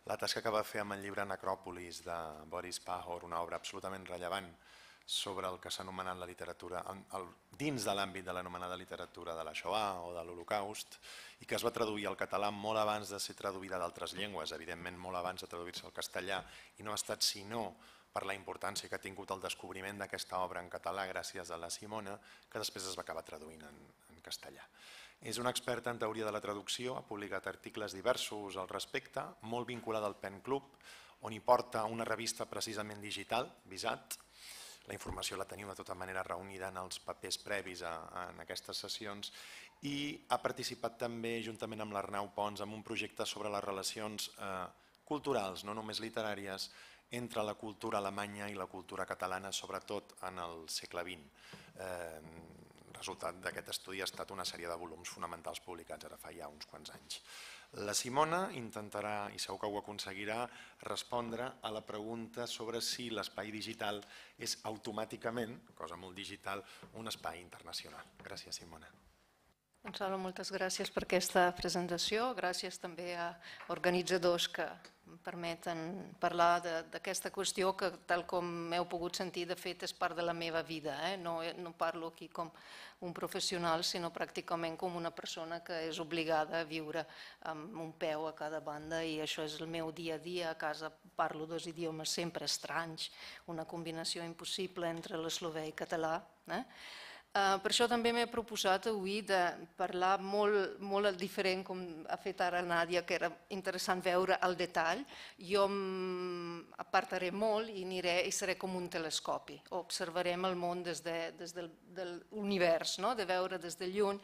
la tasca que va fer amb el llibre Necròpolis de Boris Pahor, una obra absolutament rellevant sobre el que s'ha anomenat la literatura, dins de l'àmbit de l'anomenada literatura de la Shoah o de l'Holocaust, i que es va traduir al català molt abans de ser traduïda d'altres llengües, evidentment molt abans de traduir-se al castellà, i no ha estat sinó per la importància que ha tingut el descobriment d'aquesta obra en català gràcies a la Simona, que després es va acabar traduint en castellà. És una experta en teoria de la traducció, ha publicat articles diversos al respecte, molt vinculada al Pen Club, on hi porta una revista precisament digital, Visat. La informació la teniu de tota manera reunida en els papers previs en aquestes sessions i ha participat també, juntament amb l'Arnau Pons, en un projecte sobre les relacions culturals, no només literàries, entre la cultura alemanya i la cultura catalana, sobretot en el segle XX. El resultat d'aquest estudi ha estat una sèrie de volums fonamentals publicats ara fa ja uns quants anys. La Simona intentarà, i segur que ho aconseguirà, respondre a la pregunta sobre si l'espai digital és automàticament, cosa molt digital, un espai internacional. Gràcies, Simona. Gonzalo, moltes gràcies per aquesta presentació. Gràcies també a organitzadors que em permeten parlar d'aquesta qüestió que, tal com heu pogut sentir, de fet és part de la meva vida. No parlo aquí com un professional, sinó pràcticament com una persona que és obligada a viure amb un peu a cada banda, i això és el meu dia a dia. A casa parlo dos idiomes sempre estranys, una combinació impossible entre l'eslovè i català. Per això també m'he proposat avui de parlar molt diferent, com ha fet ara Nàdia, que era interessant veure el detall. Jo apartaré molt i seré com un telescopi. Observarem el món des de l'univers, de veure des de lluny,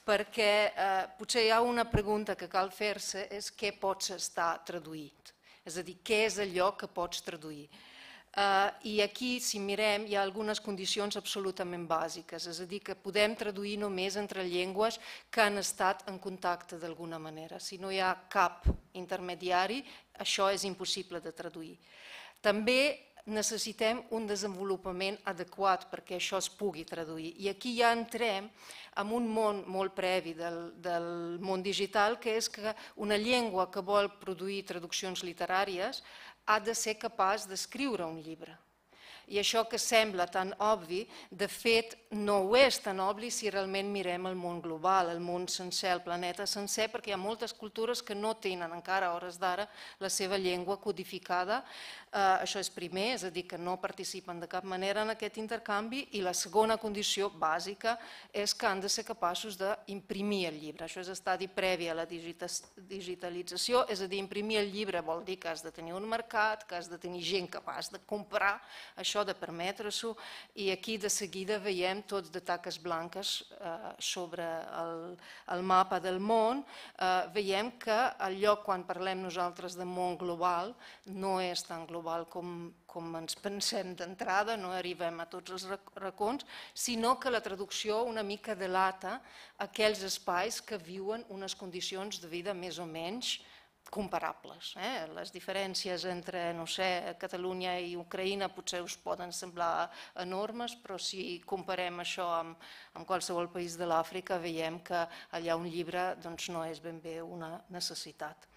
perquè potser hi ha una pregunta que cal fer-se, és què pots estar traduït? És a dir, què és allò que pots traduir? I aquí, si mirem, hi ha algunes condicions absolutament bàsiques, és a dir, que podem traduir només entre llengües que han estat en contacte d'alguna manera. Si no hi ha cap intermediari, això és impossible de traduir. També necessitem un desenvolupament adequat perquè això es pugui traduir. I aquí ja entrem en un món molt previ del món digital, que és que una llengua que vol produir traduccions literàries ha de ser capaç d'escriure un llibre. I això que sembla tan obvi, de fet no ho és tan obvi si realment mirem el món global, el món sencer, el planeta sencer, perquè hi ha moltes cultures que no tenen encara a hores d'ara la seva llengua codificada. Això és primer, és a dir, que no participen de cap manera en aquest intercanvi, i la segona condició bàsica és que han de ser capaços d'imprimir el llibre. Això és estadi previ a la digitalització, és a dir, imprimir el llibre vol dir que has de tenir un mercat, que has de tenir gent capaç de comprar això això, de permetre-s'ho, i aquí de seguida veiem tots de taques blanques sobre el mapa del món. Veiem que el lloc, quan parlem nosaltres de món global, no és tan global com ens pensem d'entrada, no arribem a tots els racons, sinó que la traducció una mica delata aquells espais que viuen unes condicions de vida més o menys comparables. Les diferències entre, no sé, Catalunya i Ucraïna potser us poden semblar enormes, però si comparem això amb qualsevol país de l'Àfrica veiem que allà un llibre no és ben bé una necessitat.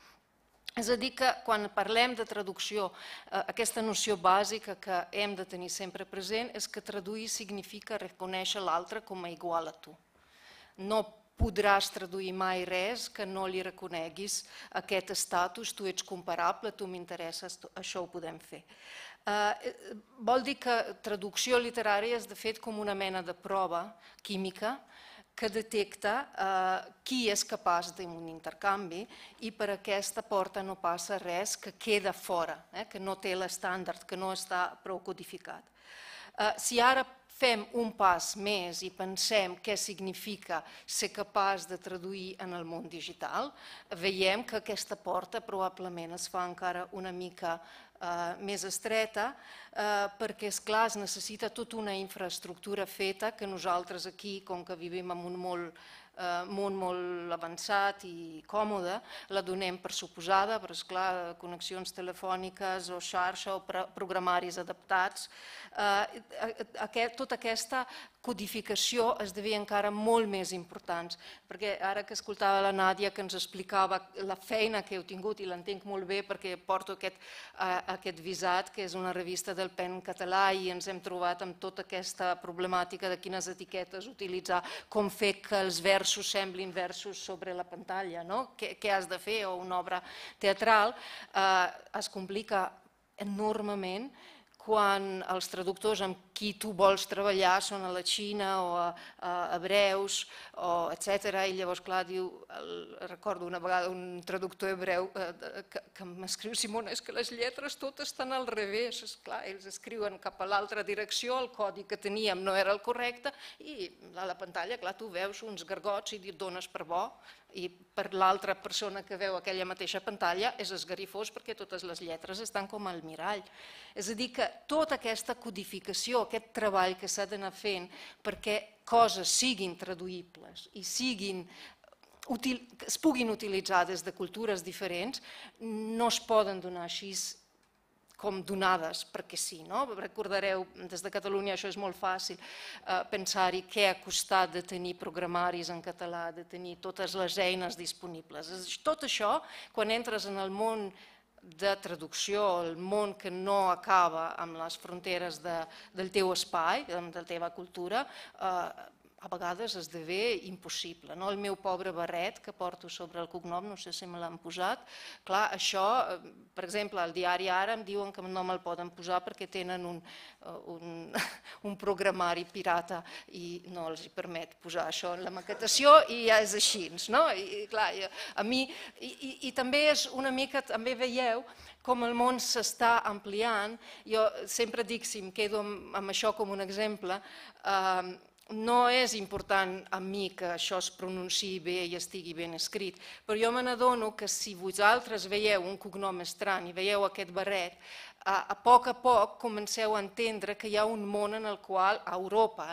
És a dir, que quan parlem de traducció, aquesta noció bàsica que hem de tenir sempre present és que traduir significa reconèixer l'altre com a igual a tu. No podràs traduir mai res que no li reconeguis aquest estatus, tu ets comparable, tu m'interesses, això ho podem fer. Vol dir que traducció literària és de fet com una mena de prova química que detecta qui és capaç d'un intercanvi i per aquesta porta no passa res que queda fora, que no té l'estàndard, que no està prou codificat. Si ara fem un pas més i pensem què significa ser capaç de traduir en el món digital, veiem que aquesta porta probablement es fa encara una mica més estreta, perquè, esclar, es necessita tota una infraestructura feta que nosaltres aquí, com que vivim en un món molt avançat i còmode, la donem per suposada, però, esclar, connexions telefòniques o xarxa o programaris adaptats. Tota aquesta codificació esdevé encara molt més important, perquè ara que escoltava la Nàdia que ens explicava la feina que heu tingut, i l'entenc molt bé perquè porto aquest visat, que és una revista del PEN català, i ens hem trobat amb tota aquesta problemàtica de quines etiquetes utilitzar, com fer que els versos semblin versos sobre la pantalla, què has de fer, o una obra teatral, es complica enormement quan els traductors amb qui tu vols treballar són a la Xina o a hebreus, etc. I llavors, clar, diu, recordo una vegada un traductor hebreu que m'escriu: Simona, és que les lletres totes estan al revés. Esclar, ells escriuen cap a l'altra direcció, el codi que teníem no era el correcte, i a la pantalla, clar, tu veus uns gargots i et dones per bo, i per l'altra persona que veu aquella mateixa pantalla és esgarrifós perquè totes les lletres estan com al mirall. És a dir, que tota aquesta codificació, aquest treball que s'ha d'anar fent perquè coses siguin traduïbles i es puguin utilitzar des de cultures diferents, no es poden donar així com donades, perquè sí. Recordareu, des de Catalunya això és molt fàcil, pensar-hi què ha costat de tenir programaris en català, de tenir totes les eines disponibles. Tot això, quan entres en el món de traducció, el món que no acaba amb les fronteres del teu espai, de la teva cultura, a vegades esdevé impossible. El meu pobre barret que porto sobre el cognom, no sé si me l'han posat, clar, això, per exemple, al diari Ara em diuen que no me'l poden posar perquè tenen un programari pirata i no els permet posar això en la maquetació, i ja és així. I també és una mica, també veieu com el món s'està ampliant. Jo sempre dic, si em quedo amb això com un exemple, no és important a mi que això es pronunciï bé i estigui ben escrit, però jo me n'adono que si vosaltres veieu un cognom estrany i veieu aquest barret, a poc comenceu a entendre que hi ha un món en el qual, a Europa,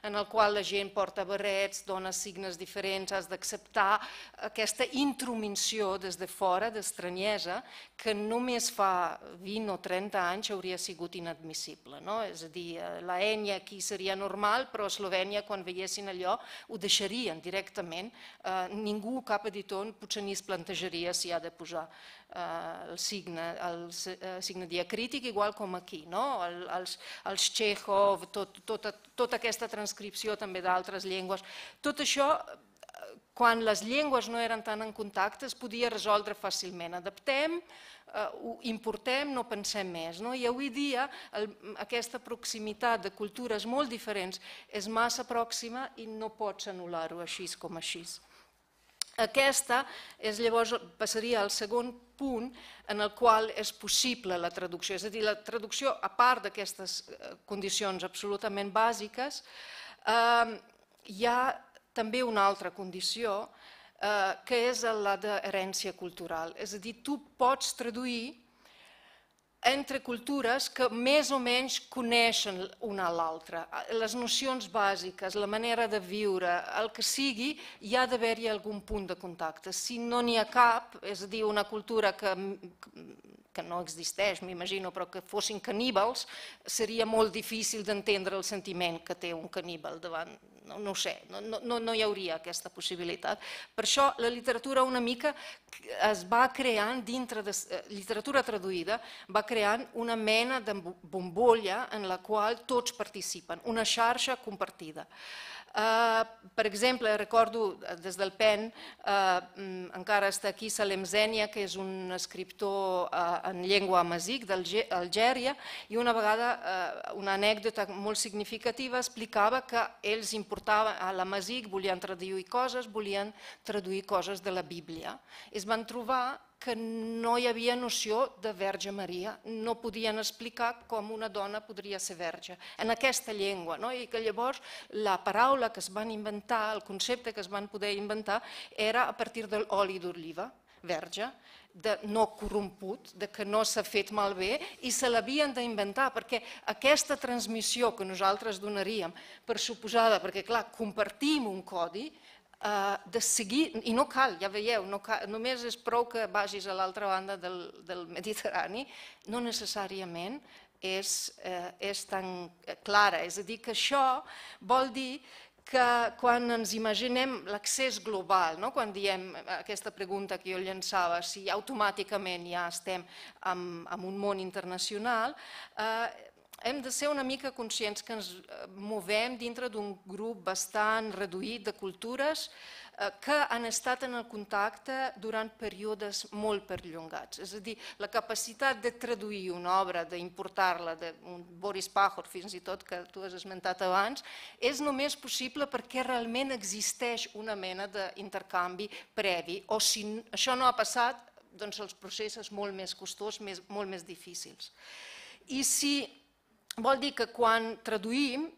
en el qual la gent porta barrets, dona signes diferents, has d'acceptar aquesta intromissió des de fora, d'estranyesa, que només fa 20 o 30 anys hauria sigut inadmissible. És a dir, la ènia aquí seria normal, però a Eslovènia, quan veiessin allò, ho deixarien directament. Ningú, cap editor, potser ni es plantejaria si ha de posar el signe diacrític, igual com aquí, els Txékhov, tota aquesta transcripció també d'altres llengües. Tot això, quan les llengües no eren tan en contacte, es podia resoldre fàcilment. Adaptem, ho importem, no pensem més. I avui dia aquesta proximitat de cultures molt diferents és massa pròxima i no pots anul·lar-ho així com així. Aquesta llavors passaria al segon punt en el qual és possible la traducció. És a dir, la traducció, a part d'aquestes condicions absolutament bàsiques, hi ha també una altra condició que és la d'herència cultural. És a dir, tu pots traduir entre cultures que més o menys coneixen una a l'altra. Les nocions bàsiques, la manera de viure, el que sigui, hi ha d'haver-hi algun punt de contacte. Si no n'hi ha cap, és a dir, una cultura que no existeix, m'imagino, però que fossin caníbals, seria molt difícil d'entendre el sentiment que té un caníbal davant. No ho sé, no hi hauria aquesta possibilitat. Per això la literatura una mica es va creant, dintre de literatura traduïda, va creant una mena de bombolla en la qual tots participen, una xarxa compartida. Per exemple, recordo des del PEN, encara està aquí Salem Zenia, que és un escriptor en llengua amazic d'Algèria, i una vegada, una anècdota molt significativa, explicava que ells importaven a l'amazic, volien traduir coses de la Bíblia. Es van trobar que no hi havia noció de Verge Maria, no podien explicar com una dona podria ser verge en aquesta llengua, i que llavors la paraula que es van inventar, el concepte que es van poder inventar, era a partir de l'oli d'oliva, verge, de no corromput, de que no s'ha fet malbé, i se l'havien d'inventar, perquè aquesta transmissió que nosaltres donaríem per suposada, perquè clar, compartim un codi, de seguir, i no cal, ja veieu, només és prou que vagis a l'altra banda del Mediterrani, no necessàriament és tan clara. És a dir, que això vol dir que quan ens imaginem l'accés global, quan diem aquesta pregunta que jo llançava, si automàticament ja estem en un món internacional, hem de ser una mica conscients que ens movem dintre d'un grup bastant reduït de cultures que han estat en el contacte durant períodes molt perllongats. És a dir, la capacitat de traduir una obra, d'importar-la, d'un Boris Pajor, fins i tot, que tu has esmentat abans, és només possible perquè realment existeix una mena d'intercanvi previ, o si això no ha passat, doncs el procés és molt més costós, molt més difícils. I si vol dir que quan traduïm,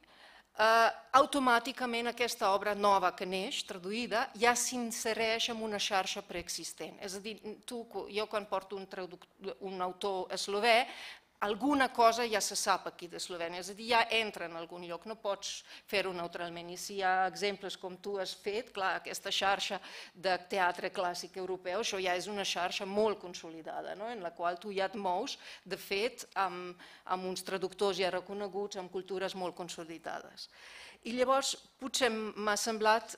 automàticament aquesta obra nova que neix, traduïda, ja s'insereix en una xarxa preexistent. És a dir, jo quan porto un autor eslovè, alguna cosa ja se sap aquí d'Eslovènia, és a dir, ja entra en algun lloc, no pots fer-ho neutralment. I si hi ha exemples com tu has fet, clar, aquesta xarxa de teatre clàssic europeu, això ja és una xarxa molt consolidada, en la qual tu ja et mous, de fet, amb uns traductors ja reconeguts, amb cultures molt consolidades. I llavors, potser m'ha semblat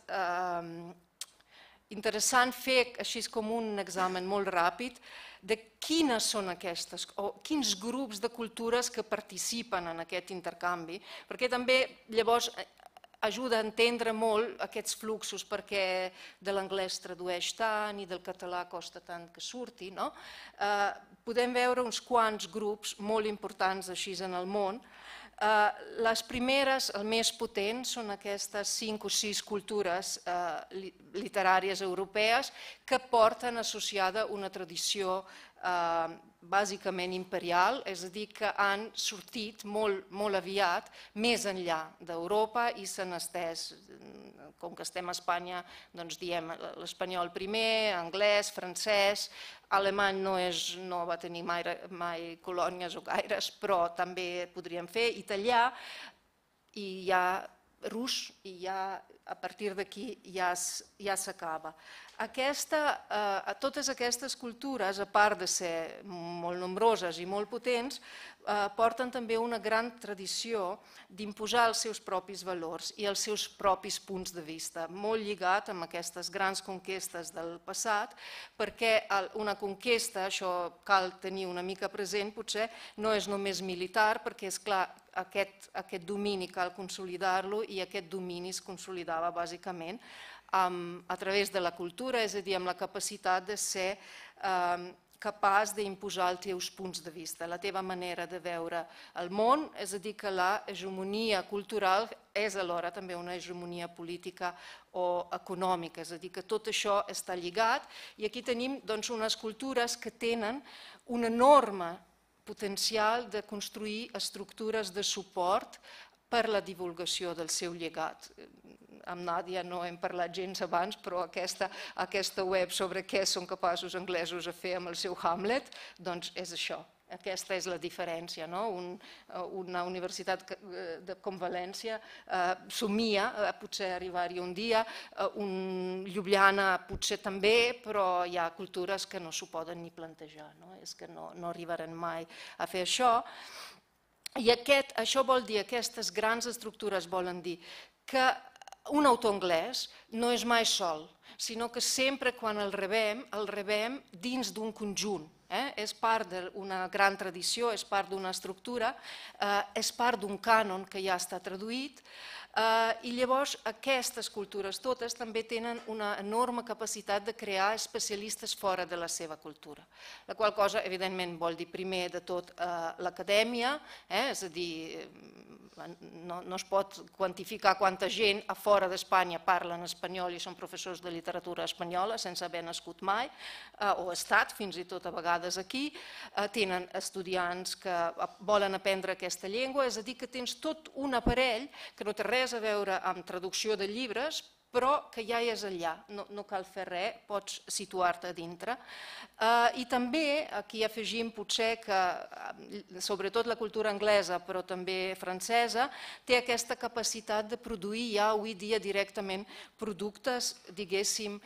interessant fer així com un examen molt ràpid de quines són aquestes, o quins grups de cultures que participen en aquest intercanvi, perquè també llavors ajuda a entendre molt aquests fluxos, perquè de l'anglès tradueix tant i del català costa tant que surti. Podem veure uns quants grups molt importants així en el món. Les primeres, el més potent, són aquestes 5 o 6 cultures literàries europees que porten associada una tradició bàsicament imperial, és a dir, que han sortit molt aviat més enllà d'Europa i s'han estès, com que estem a Espanya, doncs diem l'espanyol primer, anglès, francès, alemany no va tenir mai colònies o gaires, però també podríem fer, italià, i ja rus, i ja a partir d'aquí ja s'acaba. Totes aquestes cultures, a part de ser molt nombroses i molt potents, porten també una gran tradició d'imposar els seus propis valors i els seus propis punts de vista, molt lligat amb aquestes grans conquestes del passat, perquè una conquesta, això cal tenir una mica present, potser no és només militar, perquè és clar, aquest domini cal consolidar-lo i aquest domini es consolidava bàsicament a través de la cultura, és a dir, amb la capacitat de ser capaç d'imposar els teus punts de vista, la teva manera de veure el món, és a dir, que la hegemonia cultural és alhora també una hegemonia política o econòmica, és a dir, que tot això està lligat i aquí tenim unes cultures que tenen un enorme potencial de construir estructures de suport per la divulgació del seu llegat. Amb Nàdia no hem parlat gens abans, però aquesta web sobre què són capaços anglesos a fer amb el seu Hamlet, doncs és això. Aquesta és la diferència. Una universitat com València somia potser arribar-hi un dia, Ljubljana potser també, però hi ha cultures que no s'ho poden ni plantejar, és que no arribaran mai a fer això. I això vol dir, aquestes grans estructures volen dir que un autor anglès no és mai sol, sinó que sempre quan el rebem dins d'un conjunt. És part d'una gran tradició, és part d'una estructura, és part d'un cànon que ja està traduït i llavors aquestes cultures totes també tenen una enorme capacitat de crear especialistes fora de la seva cultura, la qual cosa evidentment vol dir primer de tot l'acadèmia, és a dir, no es pot quantificar quanta gent a fora d'Espanya parla en espanyol i són professors de literatura espanyola sense haver nascut mai o estat fins i tot a vegades aquí, tenen estudiants que volen aprendre aquesta llengua, és a dir, que tens tot un aparell que no té res a veure amb traducció de llibres, però que ja és allà, no cal fer res, pots situar-te a dintre. I també aquí afegim potser que, sobretot la cultura anglesa, però també francesa, té aquesta capacitat de produir ja avui dia directament productes, diguéssim,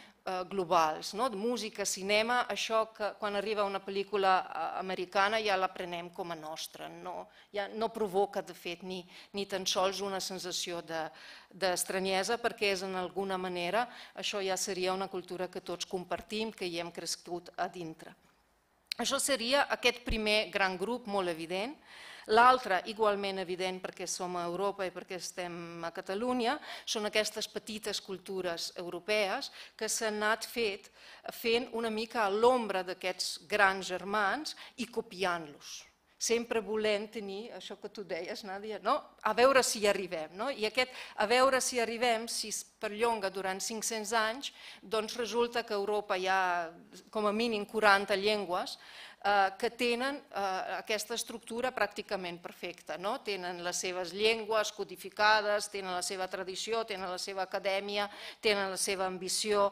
globals, música, cinema, això que quan arriba una pel·lícula americana ja la prenem com a nostra, no provoca de fet ni tan sols una sensació d'estranyesa perquè és en alguna manera, això ja seria una cultura que tots compartim, que hi hem crescut a dintre. Això seria aquest primer gran grup molt evident. L'altre, igualment evident perquè som a Europa i perquè estem a Catalunya, són aquestes petites cultures europees que s'han anat fent una mica a l'ombra d'aquests grans germans i copiant-los. Sempre volent tenir, això que tu deies, Nàdia, a veure si hi arribem. I aquest a veure si arribem, si es perllonga durant 500 anys, doncs resulta que a Europa hi ha com a mínim 40 llengües que tenen aquesta estructura pràcticament perfecta. Tenen les seves llengües codificades, tenen la seva tradició, tenen la seva acadèmia, tenen la seva ambició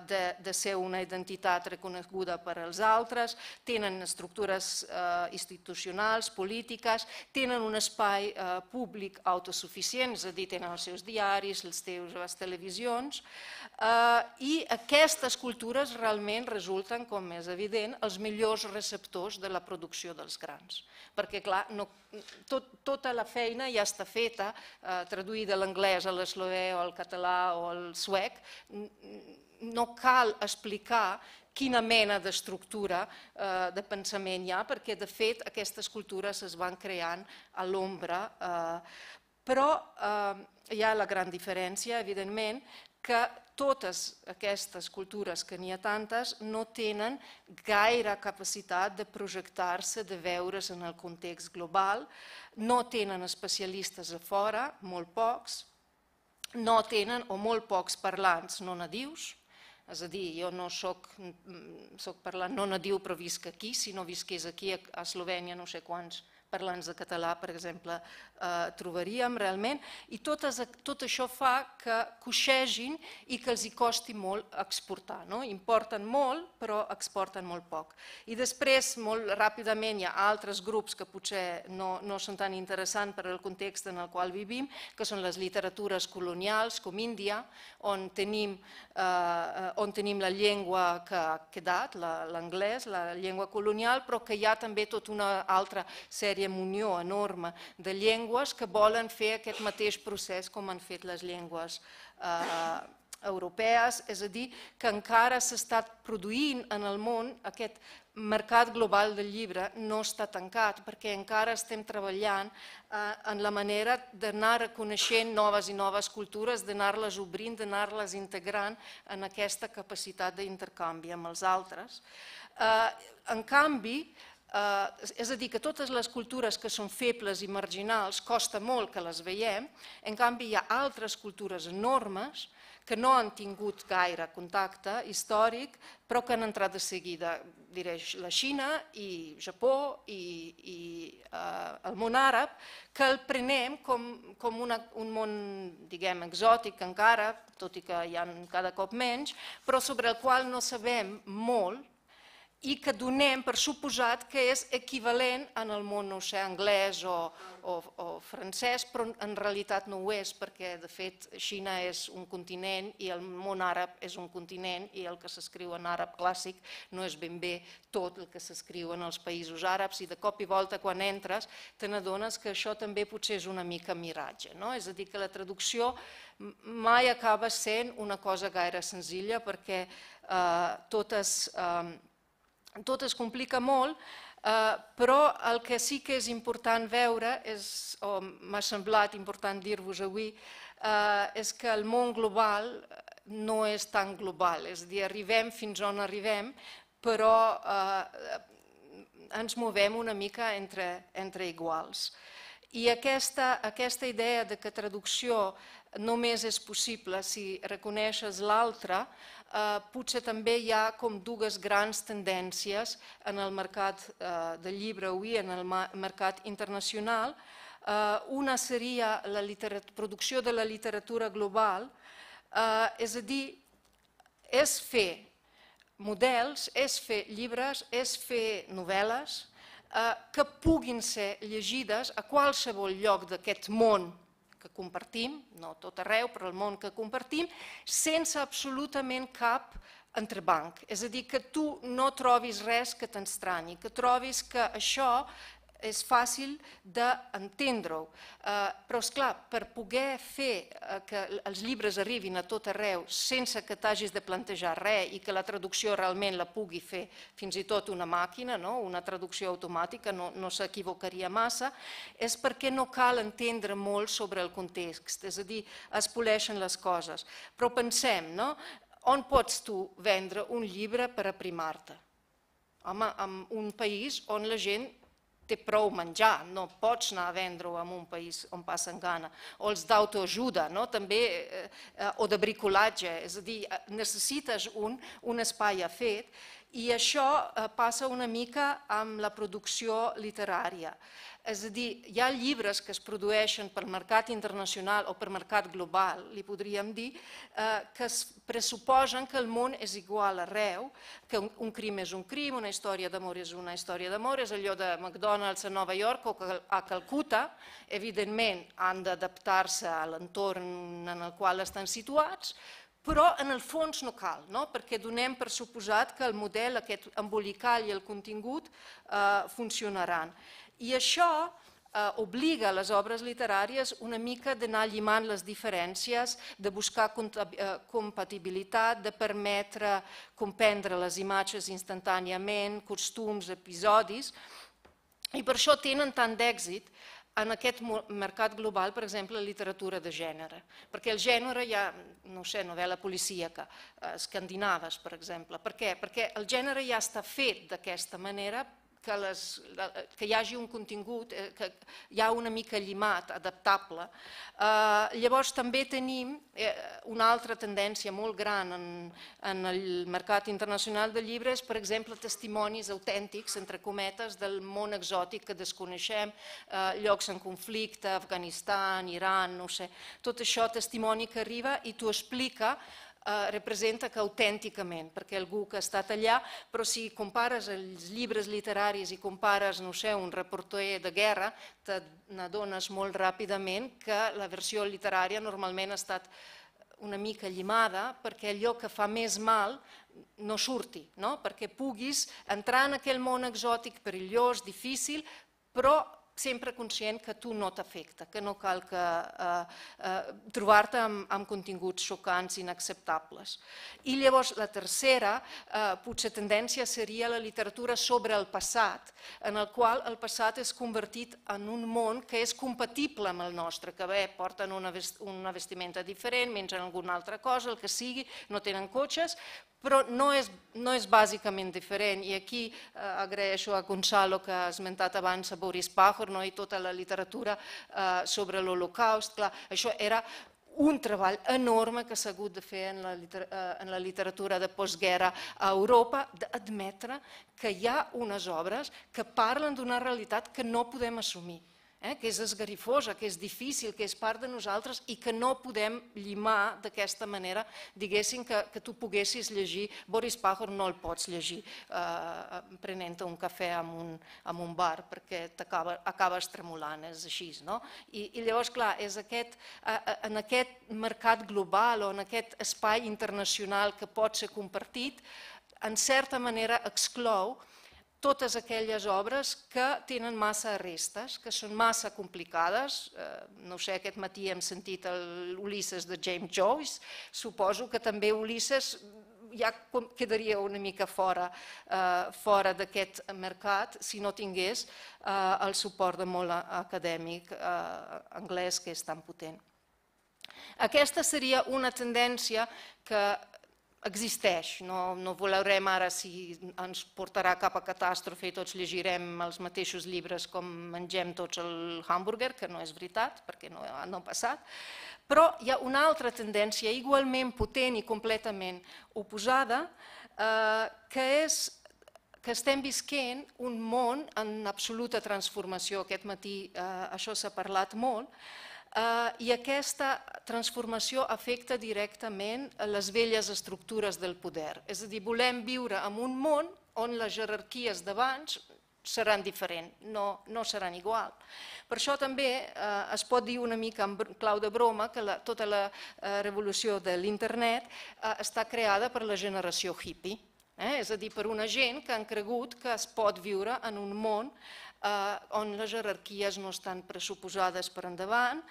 de ser una identitat reconeguda per als altres, tenen estructures institucionals, polítiques, tenen un espai públic autosuficient, és a dir, tenen els seus diaris, les seves televisions, i aquestes cultures realment resulten, com és evident, els millors receptors de la producció dels grans. Perquè, clar, tota la feina ja està feta, traduïda a l'anglès, a l'eslovè, o al català o al suec, no cal explicar quina mena d'estructura de pensament hi ha, perquè de fet aquestes cultures es van creant a l'ombra, però hi ha la gran diferència, evidentment, que totes aquestes cultures, que n'hi ha tantes, no tenen gaire capacitat de projectar-se, de veure's en el context global, no tenen especialistes a fora, molt pocs, no tenen o molt pocs parlants no nadius, és a dir, jo no soc parlant no nadiu però visc aquí, si no visqués aquí a Eslovènia no sé quants parlants de català, per exemple, trobaríem realment, i tot això fa que coixegin i que els hi costi molt exportar. Importen molt, però exporten molt poc. I després, molt ràpidament, hi ha altres grups que potser no són tan interessants per al context en el qual vivim, que són les literatures colonials, com Índia, on tenim la llengua que ha quedat, l'anglès, la llengua colonial, però que hi ha també tota una altra sèrie munió enorme de llengües que volen fer aquest mateix procés com han fet les llengües europees, és a dir, que encara s'està produint en el món, aquest mercat global del llibre no està tancat perquè encara estem treballant en la manera d'anar reconeixent noves i noves cultures, d'anar-les obrint, d'anar-les integrant en aquesta capacitat d'intercanvi amb els altres. En canvi, és a dir, que totes les cultures que són febles i marginals costa molt que les veiem, en canvi hi ha altres cultures enormes que no han tingut gaire contacte històric, però que han entrat de seguida, diré, la Xina i Japó i el món àrab, que el prenem com un món, diguem, exòtic encara, tot i que hi ha cada cop menys, però sobre el qual no sabem molt, i que donem per suposat que és equivalent en el món, no sé, anglès o francès, però en realitat no ho és, perquè de fet Xina és un continent i el món àrab és un continent i el que s'escriu en àrab clàssic no és ben bé tot el que s'escriu en els països àrabs i de cop i volta quan entres te n'adones que això també potser és una mica miratge, no? És a dir, que la traducció mai acaba sent una cosa gaire senzilla perquè tot es complica molt, però el que sí que és important veure, o m'ha semblat important dir-vos avui, és que el món global no és tan global, és a dir, arribem fins on arribem, però ens movem una mica entre iguals. I aquesta idea de que traducció només és possible si reconeixes l'altre, potser també hi ha com dues grans tendències en el mercat del llibre avui, en el mercat internacional. Una seria la producció de la literatura global, és a dir, és fer models, és fer llibres, és fer novel·les que puguin ser llegides a qualsevol lloc d'aquest món que compartim, no tot arreu, però el món que compartim, sense absolutament cap entrebanc. És a dir, que tu no trobis res que t'estranyi, que trobis que això és fàcil d'entendre-ho. Però, esclar, per poder fer que els llibres arribin a tot arreu sense que t'hagis de plantejar res i que la traducció realment la pugui fer fins i tot una màquina, una traducció automàtica, no s'equivocaria massa, és perquè no cal entendre molt sobre el context, és a dir, es poleixen les coses. Però pensem, on pots tu vendre un llibre per aprimar-te? Home, en un país on la gent té prou menjar, no pots anar a vendre-ho en un país on passen gana. O els d'autoajuda, també, o de bricolatge, és a dir, necessites un espai fet i això passa una mica amb la producció literària. És a dir, hi ha llibres que es produeixen pel mercat internacional o pel mercat global, li podríem dir, que es pressuposen que el món és igual arreu, que un crim és un crim, una història d'amor és una història d'amor, és allò de McDonald's a Nova York o a Calcuta, evidentment han d'adaptar-se a l'entorn en el qual estan situats, però en el fons no cal, perquè donem per suposat que el model, aquest embolical i el contingut funcionaran. I això obliga les obres literàries una mica d'anar llimant les diferències, de buscar compatibilitat, de permetre comprendre les imatges instantàniament, costums, episodis, i per això tenen tant d'èxit en aquest mercat global, per exemple, la literatura de gènere. Perquè el gènere hi ha, no sé, novel·la policíaca, escandinaves, per exemple. Per què? Perquè el gènere ja està fet d'aquesta manera que hi hagi un contingut, que hi ha una mica llimat, adaptable. Llavors també tenim una altra tendència molt gran en el mercat internacional de llibres, per exemple, testimonis autèntics, entre cometes, del món exòtic que desconeixem, llocs en conflicte, Afganistan, Iran, no sé, tot això, testimoni que arriba i t'ho explica, representa que autènticament, perquè algú que ha estat allà, però si compares els llibres literaris i compares, no sé, un reporter de guerra, te n'adones molt ràpidament que la versió literària normalment ha estat una mica llimada perquè allò que fa més mal no surti, perquè puguis entrar en aquell món exòtic perillós, difícil, però sempre conscient que tu no t'afecta, que no cal trobar-te amb continguts xocants, inacceptables. I llavors la tercera, potser tendència, seria la literatura sobre el passat, en el qual el passat és convertit en un món que és compatible amb el nostre, que bé, porten una vestimenta diferent, mengen alguna altra cosa, el que sigui, no tenen cotxes, però no és bàsicament diferent. I aquí agraeixo a Gonzalo, que ha esmentat abans a Boris Pajor, i tota la literatura sobre l'Holocaust. Això era un treball enorme que s'ha hagut de fer en la literatura de postguerra a Europa, d'admetre que hi ha unes obres que parlen d'una realitat que no podem assumir, que és esgarifosa, que és difícil, que és part de nosaltres i que no podem llimar d'aquesta manera, diguéssim, que tu poguessis llegir. Boris Pajor no el pots llegir prenent-te un cafè en un bar, perquè acabes tremolant, és així. I llavors, clar, en aquest mercat global o en aquest espai internacional que pot ser compartit, en certa manera exclou totes aquelles obres que tenen massa arestes, que són massa complicades. No sé, aquest matí hem sentit l'Ulisses de James Joyce, suposo que també Ulisses ja quedaria una mica fora d'aquest mercat si no tingués el suport de molt acadèmic anglès, que és tan potent. Aquesta seria una tendència que existeix, no veurem ara si ens portarà cap a catàstrofe i tots llegirem els mateixos llibres com mengem tots el hàmburguer, que no és veritat, perquè no ha passat, però hi ha una altra tendència igualment potent i completament oposada, que és que estem visquent un món en absoluta transformació. Aquest matí això s'ha parlat molt, i aquesta transformació afecta directament les velles estructures del poder. És a dir, volem viure en un món on les jerarquies d'abans seran diferents, no seran igual. Per això també es pot dir una mica en clau de broma que tota la revolució de l'internet està creada per la generació hippie, és a dir, per una gent que han cregut que es pot viure en un món on les jerarquies no estan pressuposades per endavant,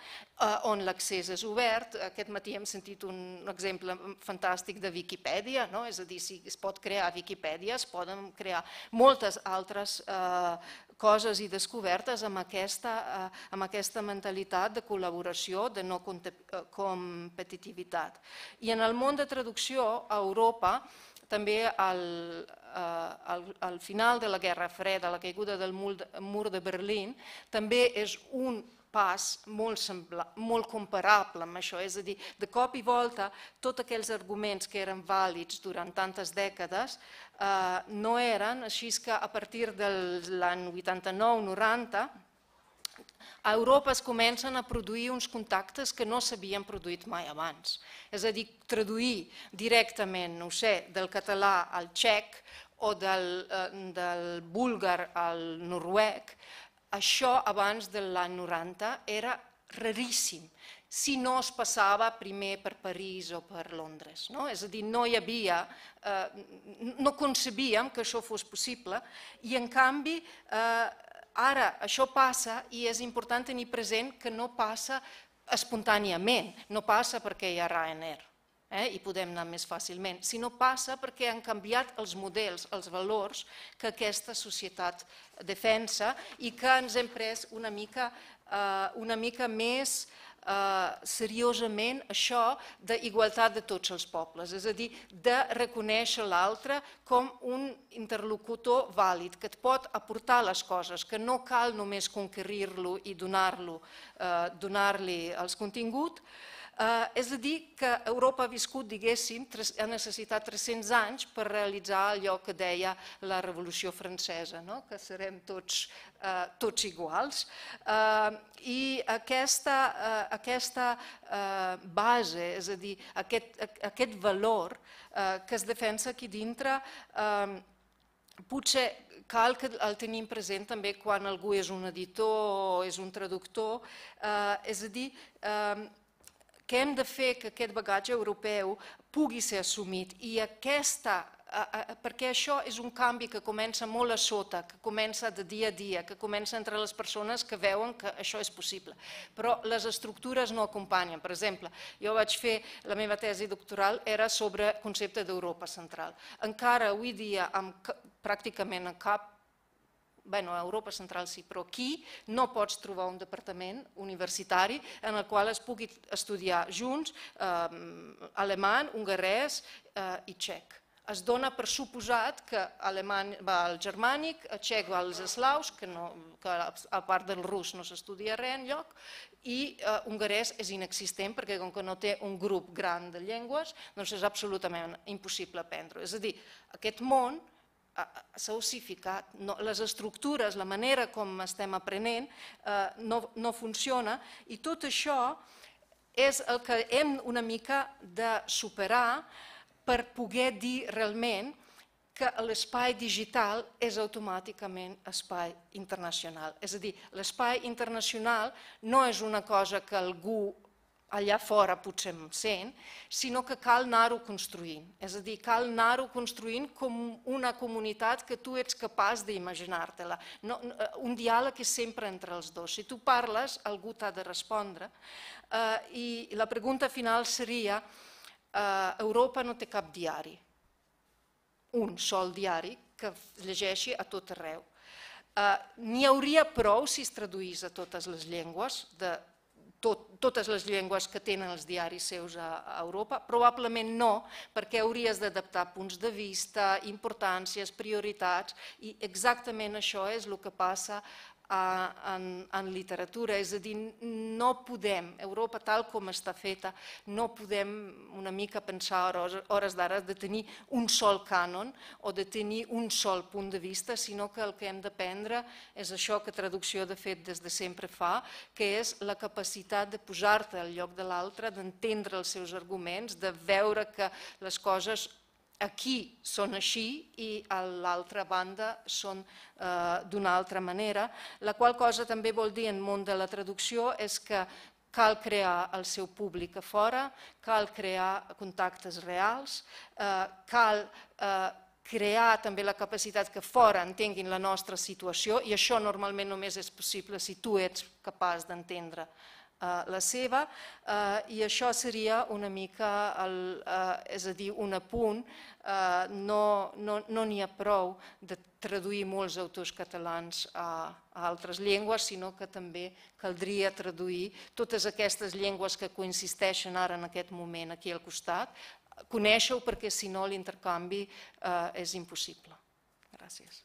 on l'accés és obert. Aquest matí hem sentit un exemple fantàstic de Viquipèdia, és a dir, si es pot crear Viquipèdia, es poden crear moltes altres coses i descobertes amb aquesta mentalitat de col·laboració, de no competitivitat. I en el món de traducció, a Europa, també al final de la Guerra Freda, la caiguda del mur de Berlín, també és un pas molt comparable amb això. És a dir, de cop i volta, tots aquells arguments que eren vàlids durant tantes dècades no eren, així que a partir de l'any 89-90, a Europa es comencen a produir uns contactes que no s'havien produït mai abans. És a dir, traduir directament, no sé, del català al txec o del búlgar al noruec, això abans de l'any 90 era raríssim, si no es passava primer per París o per Londres. És a dir, no hi havia, no concebíem que això fos possible i en canvi ara això passa i és important tenir present que no passa espontàniament, no passa perquè hi ha Ryanair i podem anar més fàcilment, sinó passa perquè han canviat els models, els valors que aquesta societat defensa i que ens hem pres una mica més seriosament això d'igualtat de tots els pobles, és a dir, de reconèixer l'altre com un interlocutor vàlid, que et pot aportar les coses, que no cal només conquerir-lo i donar-li els continguts. És a dir, que Europa ha viscut, diguéssim, ha necessitat 300 anys per realitzar allò que deia la Revolució Francesa, que serem tots iguals. I aquesta base, és a dir, aquest valor que es defensa aquí dintre, potser cal que el tenim present també quan algú és un editor o és un traductor, és a dir, que hem de fer que aquest bagatge europeu pugui ser assumit i aquesta perquè això és un canvi que comença molt a sota, que comença de dia a dia, que comença entre les persones que veuen que això és possible. Però les estructures no acompanyen. Per exemple, jo vaig fer, la meva tesi doctoral era sobre el concepte d'Europa central. Encara avui dia, pràcticament en cap, a Europa central sí, però aquí no pots trobar un departament universitari en el qual es pugui estudiar junts alemany, hongarès i txec. Es dona per suposat que alemany va al germànic, txec va als eslaus, que a part del rus no s'estudia res enlloc, i hongarès és inexistent perquè com que no té un grup gran de llengües, doncs és absolutament impossible aprendre-ho. És a dir, aquest món s'ha ossificat, les estructures, la manera com estem aprenent no funciona i tot això és el que hem una mica de superar per poder dir realment que l'espai digital és automàticament espai internacional. És a dir, l'espai internacional no és una cosa que algú allà fora potser em sent, sinó que cal anar-ho construint. És a dir, cal anar-ho construint com una comunitat que tu ets capaç d'imaginar-te-la. Un diàleg és sempre entre els dos. Si tu parles, algú t'ha de respondre. I la pregunta final seria, Europa no té cap diari, un sol diari que es llegeixi a tot arreu. N'hi hauria prou si es traduís a totes les llengües, totes les llengües que tenen els diaris seus a Europa? Probablement no, perquè hauries d'adaptar punts de vista, importàncies, prioritats, i exactament això és el que passa en literatura. És a dir, no podem, Europa tal com està feta, no podem una mica pensar a hores d'ara de tenir un sol cànon o de tenir un sol punt de vista, sinó que el que hem d'aprendre és això que traducció de fet des de sempre fa, que és la capacitat de posar-te al lloc de l'altre, d'entendre els seus arguments, de veure que les coses aquí són així i a l'altra banda són d'una altra manera, la qual cosa també vol dir en el món de la traducció és que cal crear el seu públic a fora, cal crear contactes reals, cal crear també la capacitat que fora entenguin la nostra situació i això normalment només és possible si tu ets capaç d'entendre la seva, i això seria una mica, és a dir, un apunt. No n'hi ha prou de traduir molts autors catalans a altres llengües, sinó que també caldria traduir totes aquestes llengües que coexisteixen ara en aquest moment aquí al costat, conèixer-ho perquè si no l'intercanvi és impossible. Gràcies.